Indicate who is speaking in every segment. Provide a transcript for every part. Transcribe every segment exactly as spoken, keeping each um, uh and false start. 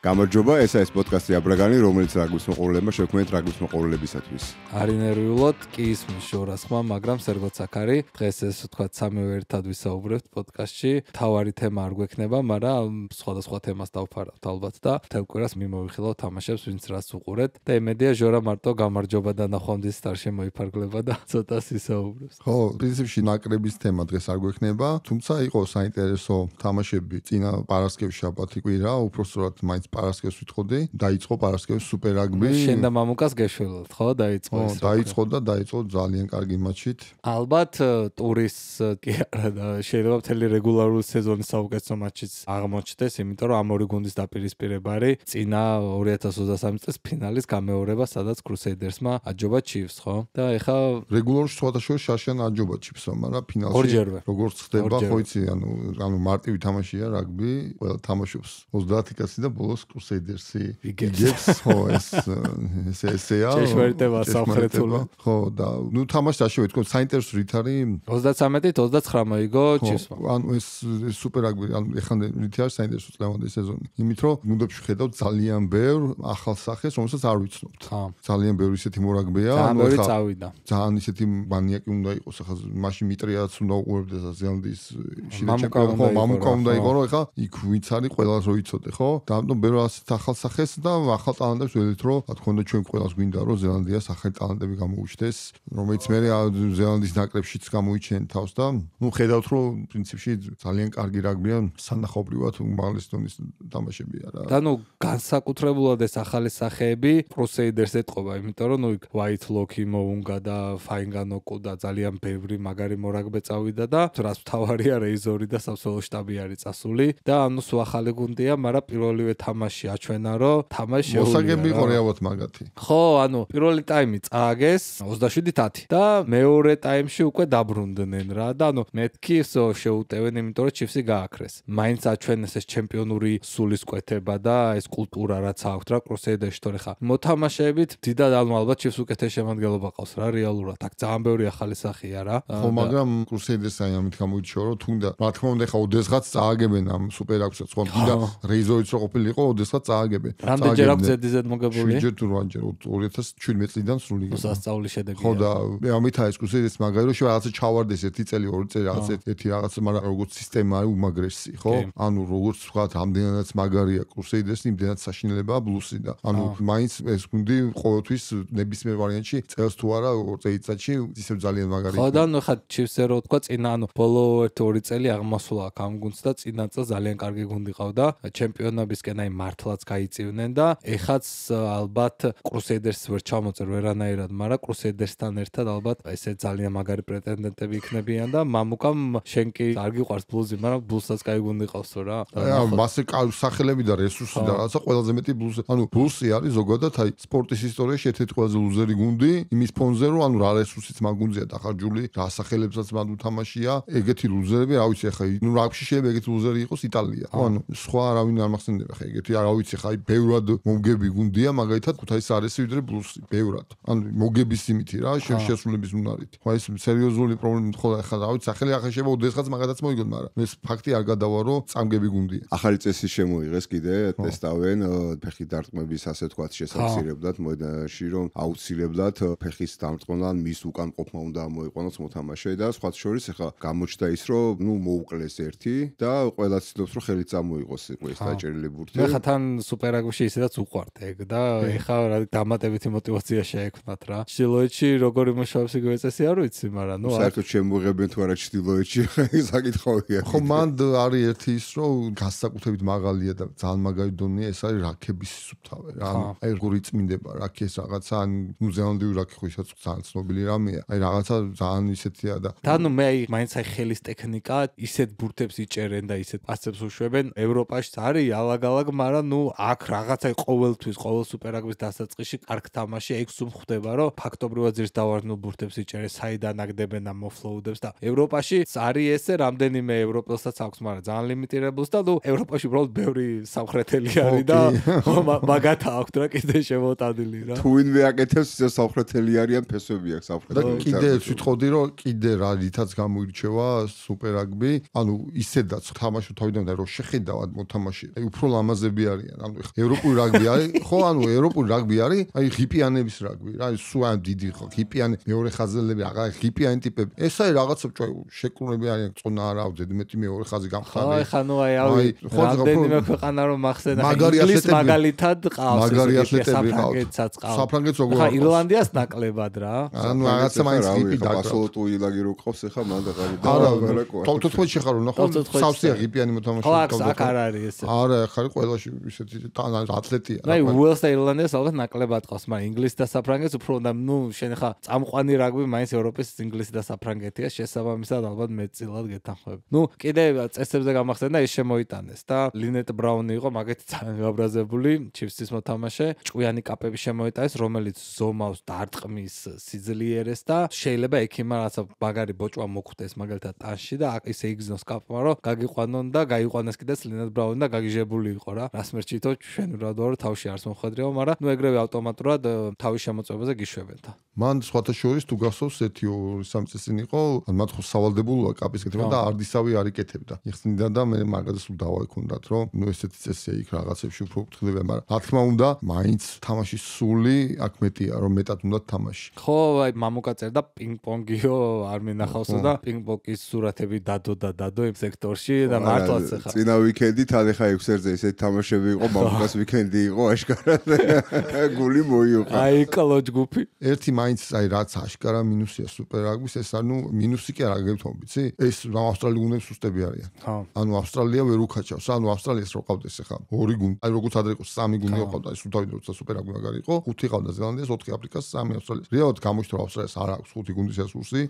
Speaker 1: გამარჯობა, ეს არის პოდკასტი აბრაგანი, რომელიც რაგბის მოყვარულებმა შექმნით რაგბის მოყვარულებისათვის.
Speaker 2: არ ინერვიულად კი ისმის შორას ხმა, მაგრამ სერგოც აქ არის. დღეს ესე ვთქვათ, სამივე ერთად ვისაუბრებთ პოდკასტში. თავარი თემა არ გვექნება, მაგრამ სხვადასხვა თემას დავფარავთ ალბათ და მთელ კვირას მიმოვიხილავთ თამაშებს, ვინც რას უყურეთ. და იმედია ჟორა მარტო გამარჯობა და ნახვამდის სტარ შემოიფარგლება და ცოტას ისაუბრებს.
Speaker 3: ხო, პრინციპში ნაკრების თემა დღეს არ გვექნება, თუმცა იყო საინტერესო თამაშები წინა პარასკევის შაბათი კვირა, უпростоრად მაინც პარასკევს ვიტყოდი, დაიწყო პარასკევის სუპერ რაგბი.
Speaker 2: შენ და მამუკას გეშველოთ, ხო, დაიწყო
Speaker 3: ეს. ხო, დაიწყო და დაიწყო ძალიან კარგი მატჩით.
Speaker 2: ალბათ ტურის კი არა და შეიძლება მთელი რეგულარული სეზონის საუკეთესო მატჩიც აღმოჩნდეს, იმიტომ რომ ამ ორი გუნდის დაპირისპირება არის წინა ორი ათას ოცდასამი წლის ფინალის გამეორება, სადაც კრუსეიდერსმა აჯობა ჩივს, ხო? და ეხა
Speaker 3: რეგულარულ შუათაშორის შაშიან აჯობა ჩივსო, მაგრამ ფინალში
Speaker 2: ორჯერვე.
Speaker 3: როგორც ხდება, ხო იცი, ანუ ანუ მარტივი თამაშია რაგბი, ყველა თამაშობს ოცდაათი კაცი და ბოლოს კრუსეიდერსი იგებს, ხო, ეს ეს ესეა.
Speaker 2: ჭეშმარიტება სამხრეთული.
Speaker 3: ხო, და ნუ თამაში დაშევე თქო, საინტერესო რით არის
Speaker 2: ოცდაცამეტით ოცდაცხრა მოიგო ჩივსმა.
Speaker 3: ანუ ეს სუპერ რაგბი, ანუ ეხლა რით არის საინტერესო წლევანდელი სეზონი. იმით რომ გუნდებში ხედავთ ძალიან ბევრ ახალ სახეს, რომელსაც არ ვიცნობთ. ძალიან ბევრი ისეთი მორაგბეა,
Speaker 2: ძალიან ბევრი წავიდა.
Speaker 3: ძალიან ისეთი მანიაკი უნდა იყოს, ახლა მაშინ მიტრიაც უნდა უყურებდეს ზელანდიის შიდაჭერა, ხო, მამუკა უნდა იყოს, რომ ახლა იქ ვინც არის ყველას რო იცოდე, ხო? და ამიტომ ბევრ ასეთ ახალ სახეს და ახალ ტალანტებს ველით რომ რა თქმა უნდა ჩვენ ყველას გვინდა რომ ზელანდიას ახალი ტალანტები გამოუჩნდეს, რომელიც მე ზელანდიის ნაკრებშიც გამოიჩენენ თავს და ნუ ხედავთ რომ პრინციპში ძალიან კარგი რაგბია, სანახაობრივად უმაღლესი დონის თამაშებია რა.
Speaker 2: და ნუ განსაკუთრებულად ეს ახალი სახეები კრუსეიდერს ეტყობა, იმიტომ რომ ნუ იქ ვაით ლოქი, მოუნგა და ფაინგანოკუ და ძალიან ბევრი მაგარი მორაგბე წავიდა და რაც მთავარია რეიზორი და სამსახურის შტაბი არის წასული და ანუ სულ ახალი გუნდია, მაგრამ პირველივე თამაში აჩვენა რომ თამაში შეუძლია.
Speaker 3: მოსაგები იყო რეალურად მაგათი.
Speaker 2: ხო, ანუ პირველი ტაიმი წააგეს ოცდაშვიდით ათი და მეორე ტაიმში უკვე დაბრუნდნენ რა და ანუ მეთქი შეუტევენ, იმიტომ რომ ჩივსი გააქრეს. მაინც აჩვენეს ეს ჩემპიონური სულისკვეთება და ეს კულტურა რაც აქვთ რა კრუსეიდერში, თორე ხა მოთამაშეებით დიდად ანუ ალბათ ჩივს უკეთეს შემადგენლობა ყავს რა რეალურად. აქ ძალიან ბევრი ახალი სახეა რა.
Speaker 3: ხო, მაგრამ კრუსეიდერს აი ამით გამოიჩიო რომ თუნდა რა თქმა უნდა ხა ოდესღაც წააგებენ ამ სუპერ რაგბისაც, ხო, თუნდა რეიზორიც რო ყოფილიყო, ოდესღაც წააგებენ.
Speaker 2: რამდენჯერ აქვს ზედიზედ მოგებული?
Speaker 3: შვიდჯერ თუ რვაჯერ ორი ათას შვიდმეტ წლიდან სრული იყო.
Speaker 2: სასწაული შედეგია.
Speaker 3: ხო და ამით არის კრუსეიდერს მაგარი რომ შეიძლება რაღაცა ჩავარდეს ერთი წელი, ორი წელი რაღაც ერთი რაღაცა, მაგრამ როგორც სისტემა არის უმაგრესი, ხო? ანუ როგორც ვთქვათ, ამდენადაც მაგარია კრუსეიდერს, იმდენად საშინელებაა ბლუსი და ანუ მაინც ეს გუნდი ყოველთვის ნებისმიერ ვარიანტში წელს თუ არა ორ წელიწადში ისევ ძალიან მაგარი.
Speaker 2: ხო და ნუ ხა ჩივსე რო თქვა წინა ანუ ბოლო ერთი ორი წელი აღმასულა აქ ამ გუნდს და წინა წელს ძალიან კარგი გუნდი ყავდა ჩემპიონობისკენ აი მართლაც გაიწივნენ და ეხაც ალბათ კრუსეიდერს ვერ ჩამოწერ ვერანაირად, მაგრამ კრუსეიდერსთან ერთად ალბათ ესე ძალიან მაგარი პრეტენდენტები იქნებიან და მამუკამ შენ კი არ გიყვარს ბლუზი, მაგრამ ბლუსაც კაი გუნდი ყავსო რა.
Speaker 3: აი მასე სახელები და რესურსი და რაღაცა ყველაზე მეტი ბლუზი. ანუ ბლუზი არის ზოგადად აი სპორტის ისტორიაში ერთ-ერთი ყველაზე ლუზერი გუნდი იმის ფონზე რომ ანუ რა რესურსიც მაგ გუნდზეა დახარჯული, რა სახელებსაც მაგ უთამაშია, ეგეთი ლუზერები, რა ვიცი ხა ნუ რაგბში შეიძლება ეგეთი ლუზერი იყოს იტალია. ხო, ანუ სხვა არავინ არ მახსენდება ხა ეგეთი რა ვიცი ხა აი ბევრად მომგები გუნდია, მაგალითად ქუთაისის არესი ვიდრე ბლუზი, ბევრად. ანუ მოგების იმითი რა, შესრულების უნარით. ხო, ეს სერიოზული პრობლემა ხო ხა რა ვიცი სახელი ახლა შეიძლება ოდესღაც მაგათაც მოიგონ, მაგრამ ეს ფაქტი არ გადავა რომ წამგები გუნდია.
Speaker 1: ახალი წესი შემოიღეს კიდე, ტესტავენ ფეხი დარტყმების ასე თქვათ შესაძლებლად, მოედანში რომ აუცილებლად ფეხის დამრტყმან მის უკან ყოფნა უნდა მოიყვანოს მოთამაშე და სხვათა შორის ახლა გამოჩნდა ის რომ ნუ მოუკლეს ერთი და ყველა ცდილობს რომ ხელი წამოიღოს ეს დაჭერილი ბურთი.
Speaker 2: მე ხა თან სუპერ რაგბიში ისედაც უყვართ ეგ და ეხა რა დამატებითი мотиваცია შეექმნათ რა. ჩtildeოეთში როგორი მუშაობს იგივე წესი არ ვიცი, მაგრამ ნუ
Speaker 1: საერთოდ შემოღებენ თუ არა ჩtildeოეთში საკითხავია.
Speaker 3: ხო, მანდ არის ერთი ის რომ განსაკუთრებით მაღალია და ძალიან მაგარი დონეა, ეს არის რაქების სუფთავე რა. აი როგორი წმინდება რაქეს რაღაცა, ნუ ზელანდიური რაქი ხო ისაც ძალიან ცნობილი რამეა. აი რაღაცა ძალიან ისეთია და
Speaker 2: და ნუ მე მაინც აი ხელის ტექნიკა ისეთ ბურთებს იჭერენ და ისეთ პასებს უშვებენ. ევროპაში არის ალაგ-ალაგ, მაგრამ ნუ აქ რაღაცა ყოველთვის ყოველ სუპერ რაგბის დასაწყისში კარგ თამაში ეგ სულ ხვდება რომ ფაქტობრივად ძირს დავარდნილ ბურთებს იჭერენ, საიდან აგდებენ ამ მოფლოუდებს და ევროპაში არის ესე რამდენიმე ევროპელსაც აქვს, მაგრამ ძალიან ლიმიტირებულს და ნუ ევროპაში უბრალოდ ბევრი სამხრეთელი არის და მაგათ აქვთ რა კიდე შემოტანილი რა.
Speaker 1: თუ ვინმე აკეთებს ისე სამხრეთელი არიან ფესვები აქვს სამხრეთელი.
Speaker 3: კიდე ვიტყოდი რომ კიდე რა რითაც გამოირჩევა სუპერ რაგბი, ანუ ისედაც თამაში თავიდან რომ შეხედავად მოთამაშე. აი უფრო ლამაზები ლუზერები არიან. ანუ ევროპული რაგბი არის, ხო, ანუ ევროპული რაგბი არის, აი ღიპიანების რაგბი რა, სულ ამ დიდი ხო, ღიპიანი მეორე ხაზელები, აღარ ღიპიანი ტიპები. ეს არის რაღაცა შეკრულები არიან, წონა არა აქვს, ზედმეტი მეორე ხაზი გამხდარი.
Speaker 2: აი ხანუ აი ავი რამდენიმე ქვეყანა რომ ახსენა ინგლისს მაგალითად ყავს
Speaker 3: მაგარი ათლეტები ყავს. საფრანგეთს როგორ
Speaker 2: ხა ირლანდიას ნაკლებად რა.
Speaker 3: ანუ რაღაცა მაინც ღიპი დაკრა.
Speaker 1: ასოლოტუ ილაგი რო ყავს ახლა მან და ყარი და
Speaker 3: არა თოთოთმეტში ხარ რომ ნახო სავსეა ღიპიანი მოთამაშე
Speaker 2: ყავს აქ არ არის ესე
Speaker 3: არა ხარ ყველაში ისეთი ათლეტია
Speaker 2: რა აი უელსს და ირლანდიას ალბათ ნაკლებად ყავს მაგრამ ინგლისს და საფრანგეთს უფრო და ნუ შენ ხა წამყვანი რაგბი მაინც ევროპის ინგლისი და საფრანგეთია შესაბამისად ალბათ მეტწილად გეთანხმები ნუ კიდე წესებზე გამახსენდა ის შემოიტანეს და ლინეტ ბრაუნი იყო მაგეთი ძალიან გაბრაზებული ჩიფსის მოთამაშე ჭკვიანი კაპები შემოიტანეს რომელიც ზომავს დარტყმის სიძლიერეს და შეიძლება ექიმა რაცა მაგარი ბოჭვა მოხვდეს მაგალითად ტანში და ისე იგზნოს კაპმა რომ გაგიყვანონ და გაიყვანეს კიდეც ლინეტ ბრაუნი და გაგიჟებული იყო რა რას მერჩითო ჩვენ რადოა თავში არს მოხვედრიო მაგრამ ნუ ეგრევე ავტომატურად თავის შემოწმებაზე გიშვებენ და
Speaker 3: მან სხვათა შორის თუ გახსოვს ერთი ორი სამი წელი იყო მათ ხო სავალდებულოა კაპის კეთება და არდისავი არ იკეთებდა იხსნიდა და მე მაგაზე სულ დავაიქონდათ რომ ნუ ესეთი წესია იქ რაღაცებში უფრო ფრთხილდება მაგრამ რა თქმა უნდა მაინც თამაშის სული აქ მეტია რომ მეტად უნდა თამაში
Speaker 2: ხო აი მამუკა წერდა პინგ-პონგიო არ მინახავსო და პინგ-პონგის სურათები დადო და დადო იმ სექტორში და მართლაც ახლა
Speaker 1: წინა ვიკენდი თან ახლა ექვსერზე ესეთი თამაშები იყო მამუკას ვიკენდი იყო აშკარად გული მოიუყა
Speaker 2: აი კლოჯ გუფი
Speaker 3: ერთი მაინც აი რაც აშკარა მინუსია სუპერ რაგბის ეს ანუ მინუსი კი არ აგებთო ვიცი ეს ავსტრალიური გუნდები სუსტები არიან ანუ ავსტრალია ვერ უკაჩავს ანუ ავსტრალიას რო ყავდეს ახლა ორი გუნდი აი როგორც ადრე იყო სამი გუნდი ყავდა ის უთავი როცა სუპერ რაგბი მაგარი იყო ხუთი ყავდა ზელანდიას ოთხი აფრიკას სამი ავსტრალიას რეალურად გამოჩნდა რომ ავსტრალიას არ აქვს ხუთი გუნდის რესურსი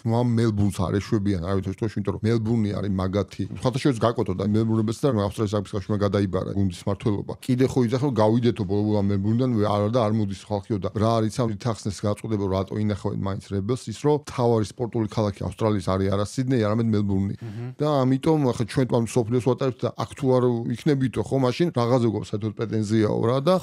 Speaker 3: ნუ ამ მელბურნს არ ეშვებიან არ ვიცი თქო იმიტომ რომ მელბურნი არის მაგათი ხათაშორის გაკვეთო და მელბურნებიც და ავსტრალიის რაგბის კავშირმა გადაიბარა გუნდის მართლობა კიდე ხო იძახო გავიდეთო ბოლო მელბურნიდან არა და არ მოდის ხალხიო და რა არის ამ თახსნეს გაწოდება რომ რატო ინახავენ მაინც რებელს ის რომ თავარი სპორტული ქალაქი ავსტრალიის არის არა სიდნეი არამედ მელბურნი და ამიტომ ახლა ჩვენ თვითონ სოფლიოს ვატარებთ და აქ თუ არ იქნებითო ხო მაშინ რაღაცა გვაქვს საერთოდ პრეტენზიაო რა და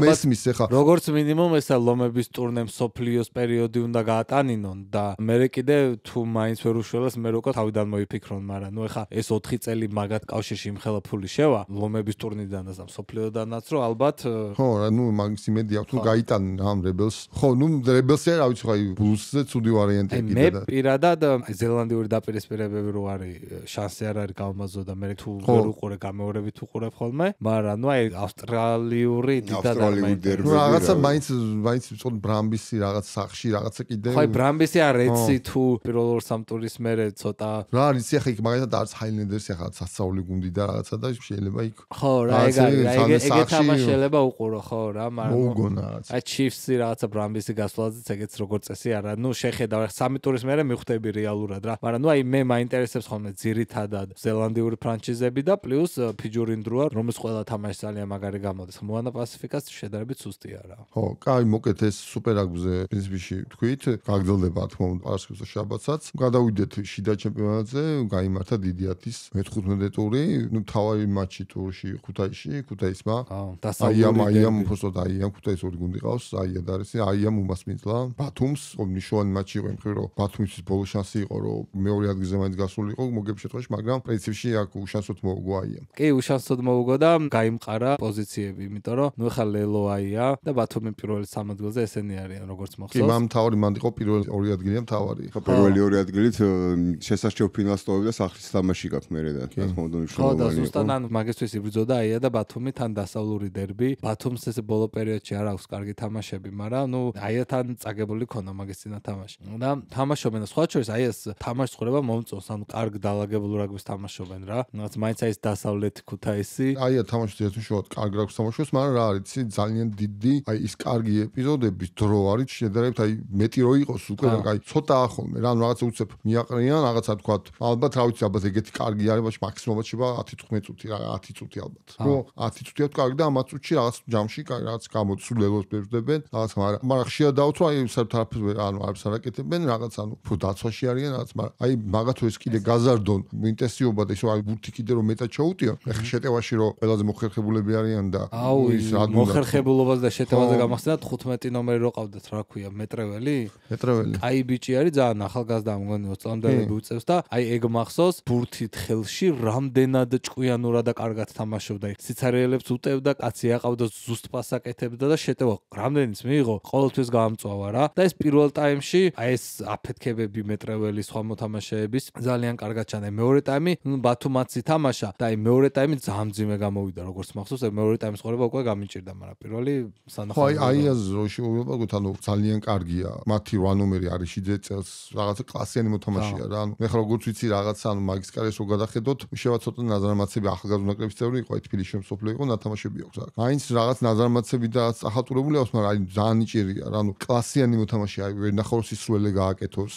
Speaker 3: მესმის ახლა
Speaker 2: როგორც მინიმუმ ესა ლომების ტურნე სოფლიოს პერიოდი უნდა გაატანინონ და მე კიდე თუ მაინც ვერ უშველეს მე როგორ თავიდან მოიფიქრონ მაგრამ ნუ ახლა ეს ოთხი წელი მაგათ კავშირში იმხელა ფული შევა ლომების ტურნიდანაც და სოფლიოდანაც რომ ალბათ
Speaker 3: ხო რა ნუ მაგის იმედია თუ გაიტანენ ამ რებელს ხო ნუ რებელსი რა ვიცი ხო აი ბლუსზე ცუდი ვარიანტია
Speaker 2: კიდე და მე პირადად ზელანდიური დაპირისპირებები რო არის შანსი არ არის გამაზო და მე თუ ვერ უყურე გამეორებით უყურებ ხოლმე მაგრამ ნუ აი ავსტრალიური დიდად
Speaker 3: ნუ რაღაცა მაინც მაინც ვწოდ ბრამბისი რაღაც სახში რაღაცა კიდე
Speaker 2: ხო აი ბრამბისი არ ეცი თუ პირველ ორ სამ ტურის მერე ცოტა
Speaker 3: რა არის ახლა იქ მაგალითად არც ჰაილენდერსი ახლა სასწაული გუნდი და რაღაცა და შეიძლება იქ
Speaker 2: ხო რა ეგ არის ეგ თამაში შეიძლება უყურო ხო რა მაგრამ
Speaker 3: მოუგონა რაღაც
Speaker 2: აი ჩიფსი რაღაცა ბრამბისი გასვლაზეც ეგეც როგორ წესი არა ნუ შეხედავ სამი ტურის მერე მიხვდები რეალურად რა მაგრამ ნუ აი მე მაინტერესებს ხოლმე ძირითადად ზელანდიური ფრანჩიზები და პლუს ფიჯური ნდროა რომის ყველა თამაში ძალიან მაგარი გამოდის მოანა პასიფიკას შედარებით სუსტია რა
Speaker 3: ხო კაი მოკეთ ეს სუპერ რაგბიზე პრინციპში თქვით გაგრძელდება თქმა უნდა პარასკევს და შაბათსაც გადავიდეთ შიდა ჩემპიონატზე გაიმართა დიდი ათის მეთხუთმეტე ტური ნუ თავი მატჩი ტურში ქუთაისში ქუთაისმა
Speaker 2: დასავლური
Speaker 3: აიამ უბრალოდ აიამ ქუთაის ორი გუნდი ყავს აია და არის აიამ უმასპინძლა ბათუმს ნიშნავენ მატჩი იყო იმ ხრივ რომ ბათუმის ბოლო შანსი იყო რომ მეორე ადგილზე მაინც გასულიყო მოგების შემთხვევაში მაგრამ პრინციპში აქ უშანსოდ მოუგო აიამ
Speaker 2: კი უშანსოდ მოუგო და გაიმყარა პოზიციები იმიტომ რომ ნუ ხა ლელო აია და ბათუმი პირველი სამ ადგილზე ესენი არიან როგორც მახსოვს
Speaker 3: კი მამ თავი მანდ იყო პირველი ორი ადგილია თავი
Speaker 1: ხო პირველი ორი ადგილით შესაძლოა ფინალს ტოვებს და სახლის თამაში გაქვს მერე და თქმა უნდა მნიშვნელოვანი
Speaker 2: ხო და ზუსტად ან მაგისთვის იბრძოდა აია და ბათუმი თან დასავლური დერბი ბათუმს ეს ბოლო პერიოდში არ აქვს კარგი თამაშები მაგრამ ნუ აიათან წაგებული ქონა მაგის წინა თამაში და თამაშობენ სხვა შორის აი ეს თამაშს ხრება მომწონს ანუ კარგ დაალაგებულ რაგბის თამაშობენ რა რაც მაინც აი ეს დასავლეთი ქუთაისი
Speaker 3: აია თამაშს ერთ უშუალოდ კარგ რაგბის თამაშობს მაგრამ რა არის იცი ძალიან დიდი აი ის კარგი ეპიზოდების დრო არის შედარებით აი მეტი რო იყოს უკვე აი ცოტა ახოლმე რა რაღაცა უცებ მიაყრიან რაღაცა თქვა ალბათ რა ვიცი ალბათ ეგეთი კარგი არის բայց მაქსიმუმად შევა ათი თხმეტ წუთი რა ათი წუთი ალბათ რო ათი წუთია კარგი და ამათ წუთში რაღაც ჯამში რაღაც გამოცულელოს ბერძდებენ რაღაც მაგრამ მაგრამ ხშირად დავთვალ აი საერთოდ არაფერს ანუ არაფერს არ აკეთებენ რაღაც ანუ უფრო დაცვაში არიან რაღაც მაგრამ აი მაგათო ეს კიდე გაზარდონ ინტენსივობა და ისო აი ბურთი კიდე რომ მეტად ჩაუტიო ეხლა შეტევაში რომ ყველაზე მოხერხებულები არიან და
Speaker 2: აუ ის მოხერხებულობას და შეტევაზე გამახსენდა თხუთმეტი ნომერი რო ყავდათ რა ქვია მეტრეველი
Speaker 3: მეტრეველი
Speaker 2: აი ბიჭი არის ძალიან ახალგაზრდა მგონი ოცი წლამდელი უწევს და აი ეგ მახსოვს ბურთით ხელში რამდენად ჭკვიანურად და კარგად თამაშობდა აი სიცარიელებს უტევდა, კაცი აყავდა ზუსტ პასს აკეთებდა და შეტევა რამდენიც მიიღო, ყოველთვის გაამწვავა რა. და ეს პირველ ტაიმში აი ეს აფეთქებები მეტრეველი სხვა მოთამაშეების ძალიან კარგად ჩანდა. მეორე ტაიმი ბათუმაც ითამაშა და აი მეორე ტაიმი ძალიან მძიმე გამოვიდა, როგორც მახსოვს, აი მეორე ტაიმის ყურება უკვე გამიჭირდა, მაგრამ პირველი სანახავი.
Speaker 3: აი აი ეს როშიულობაგოთ, ანუ ძალიან კარგია. მათი რვა ნომერი არის შიძე წელს რაღაცა კლასიანი მოთამაშეა რა. ანუ ეხლა როგორც ვიცი რაღაცა, ანუ მაგის კარიერას რო გადახედოთ, შევა ცოტა ნაზარმაცები ახალგაზრდა ნაკრების წევრი იყო, თბილისში მსოფლიო იყო, ნათამაშები აქვს აქ. აინც რაღაც ნაზარმაცები და ახალტურებული აქვს, მაგრამ აი ძალიან ნიჭიერია რა. ანუ კლასიანი მოთამაშეა, აი ვერ ნახავს ისრველე გააკეთოს.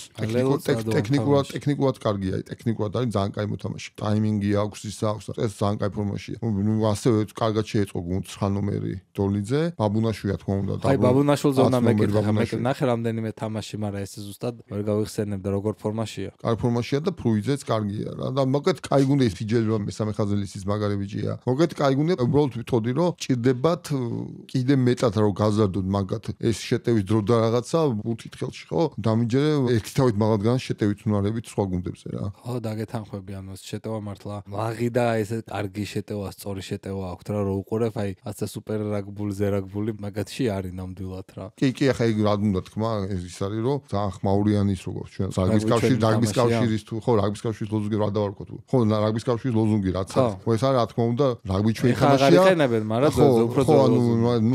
Speaker 3: ტექნიკურად ტექნიკურად კარგია, აი ტექნიკურად არის ძალიან კაი მოთამაშე. ტაიმინგი აქვს, ის აქვს, ეს ძალიან კაი ფორმაშია. ნუ ასევე კარგად შეეწყო გუნდს ხა ნომერი დოლიძე, ბაბუნაშვილი თქმა უნდა.
Speaker 2: აი ბაბუნაშვილზე უნდა მეკითხა, მე ნახე რამდენიმე თამაში, მაგრამ ეს ზუსტად ვერ გავიხსენებდა როგორ ფორმაშია.
Speaker 3: კარგი ფორმაშია და ფრუიძეც კარგია რა. და მოკეთ კაი გუნდი ის ფიჯელვა მესამე ხაზელისის მაგარი ბიჭია. მოკეთ კაი გუნდი, უბრალოდ ვიტყოდი რომ ჭირდებათ კიდე მეტად რომ გაზარდოთ მაგათ ეს შეტევის დრო და რაღაცა უთით ხელში ხო? დამიჯერე ერთი თავით მაღალგან შეტევით უნარებით სხვა გუნდებზე რა.
Speaker 2: ხო, დაგეთანხმები ანუ შეტევა მართლა. ლაღი და ესე კარგი შეტევა, სწორი შეტევა აქვს რა, რო უყურებ, აი ასე სუპერ რაგბული, ზერაგბული მაგათში არის ნამდვილად რა.
Speaker 3: კი, კი, ახლა ეგ რა უნდა თქმა, ის არის რომ ძალიან ხმაურიანის როგორც ჩვენ რაგბის კავშირი, რაგბის კავშირის თუ ხო, რაგბის კავშირის ლოზუნგი რა დავარქო თუ. ხო, რაგბის კავშირის ლოზუნგი რაც არის. ხო, ეს არის რა თქმა უნდა, რაგბი ჩვენი თამაშია.
Speaker 2: ხა აღარიხენებენ, მაგრამ უფრო
Speaker 3: ხო, ანუ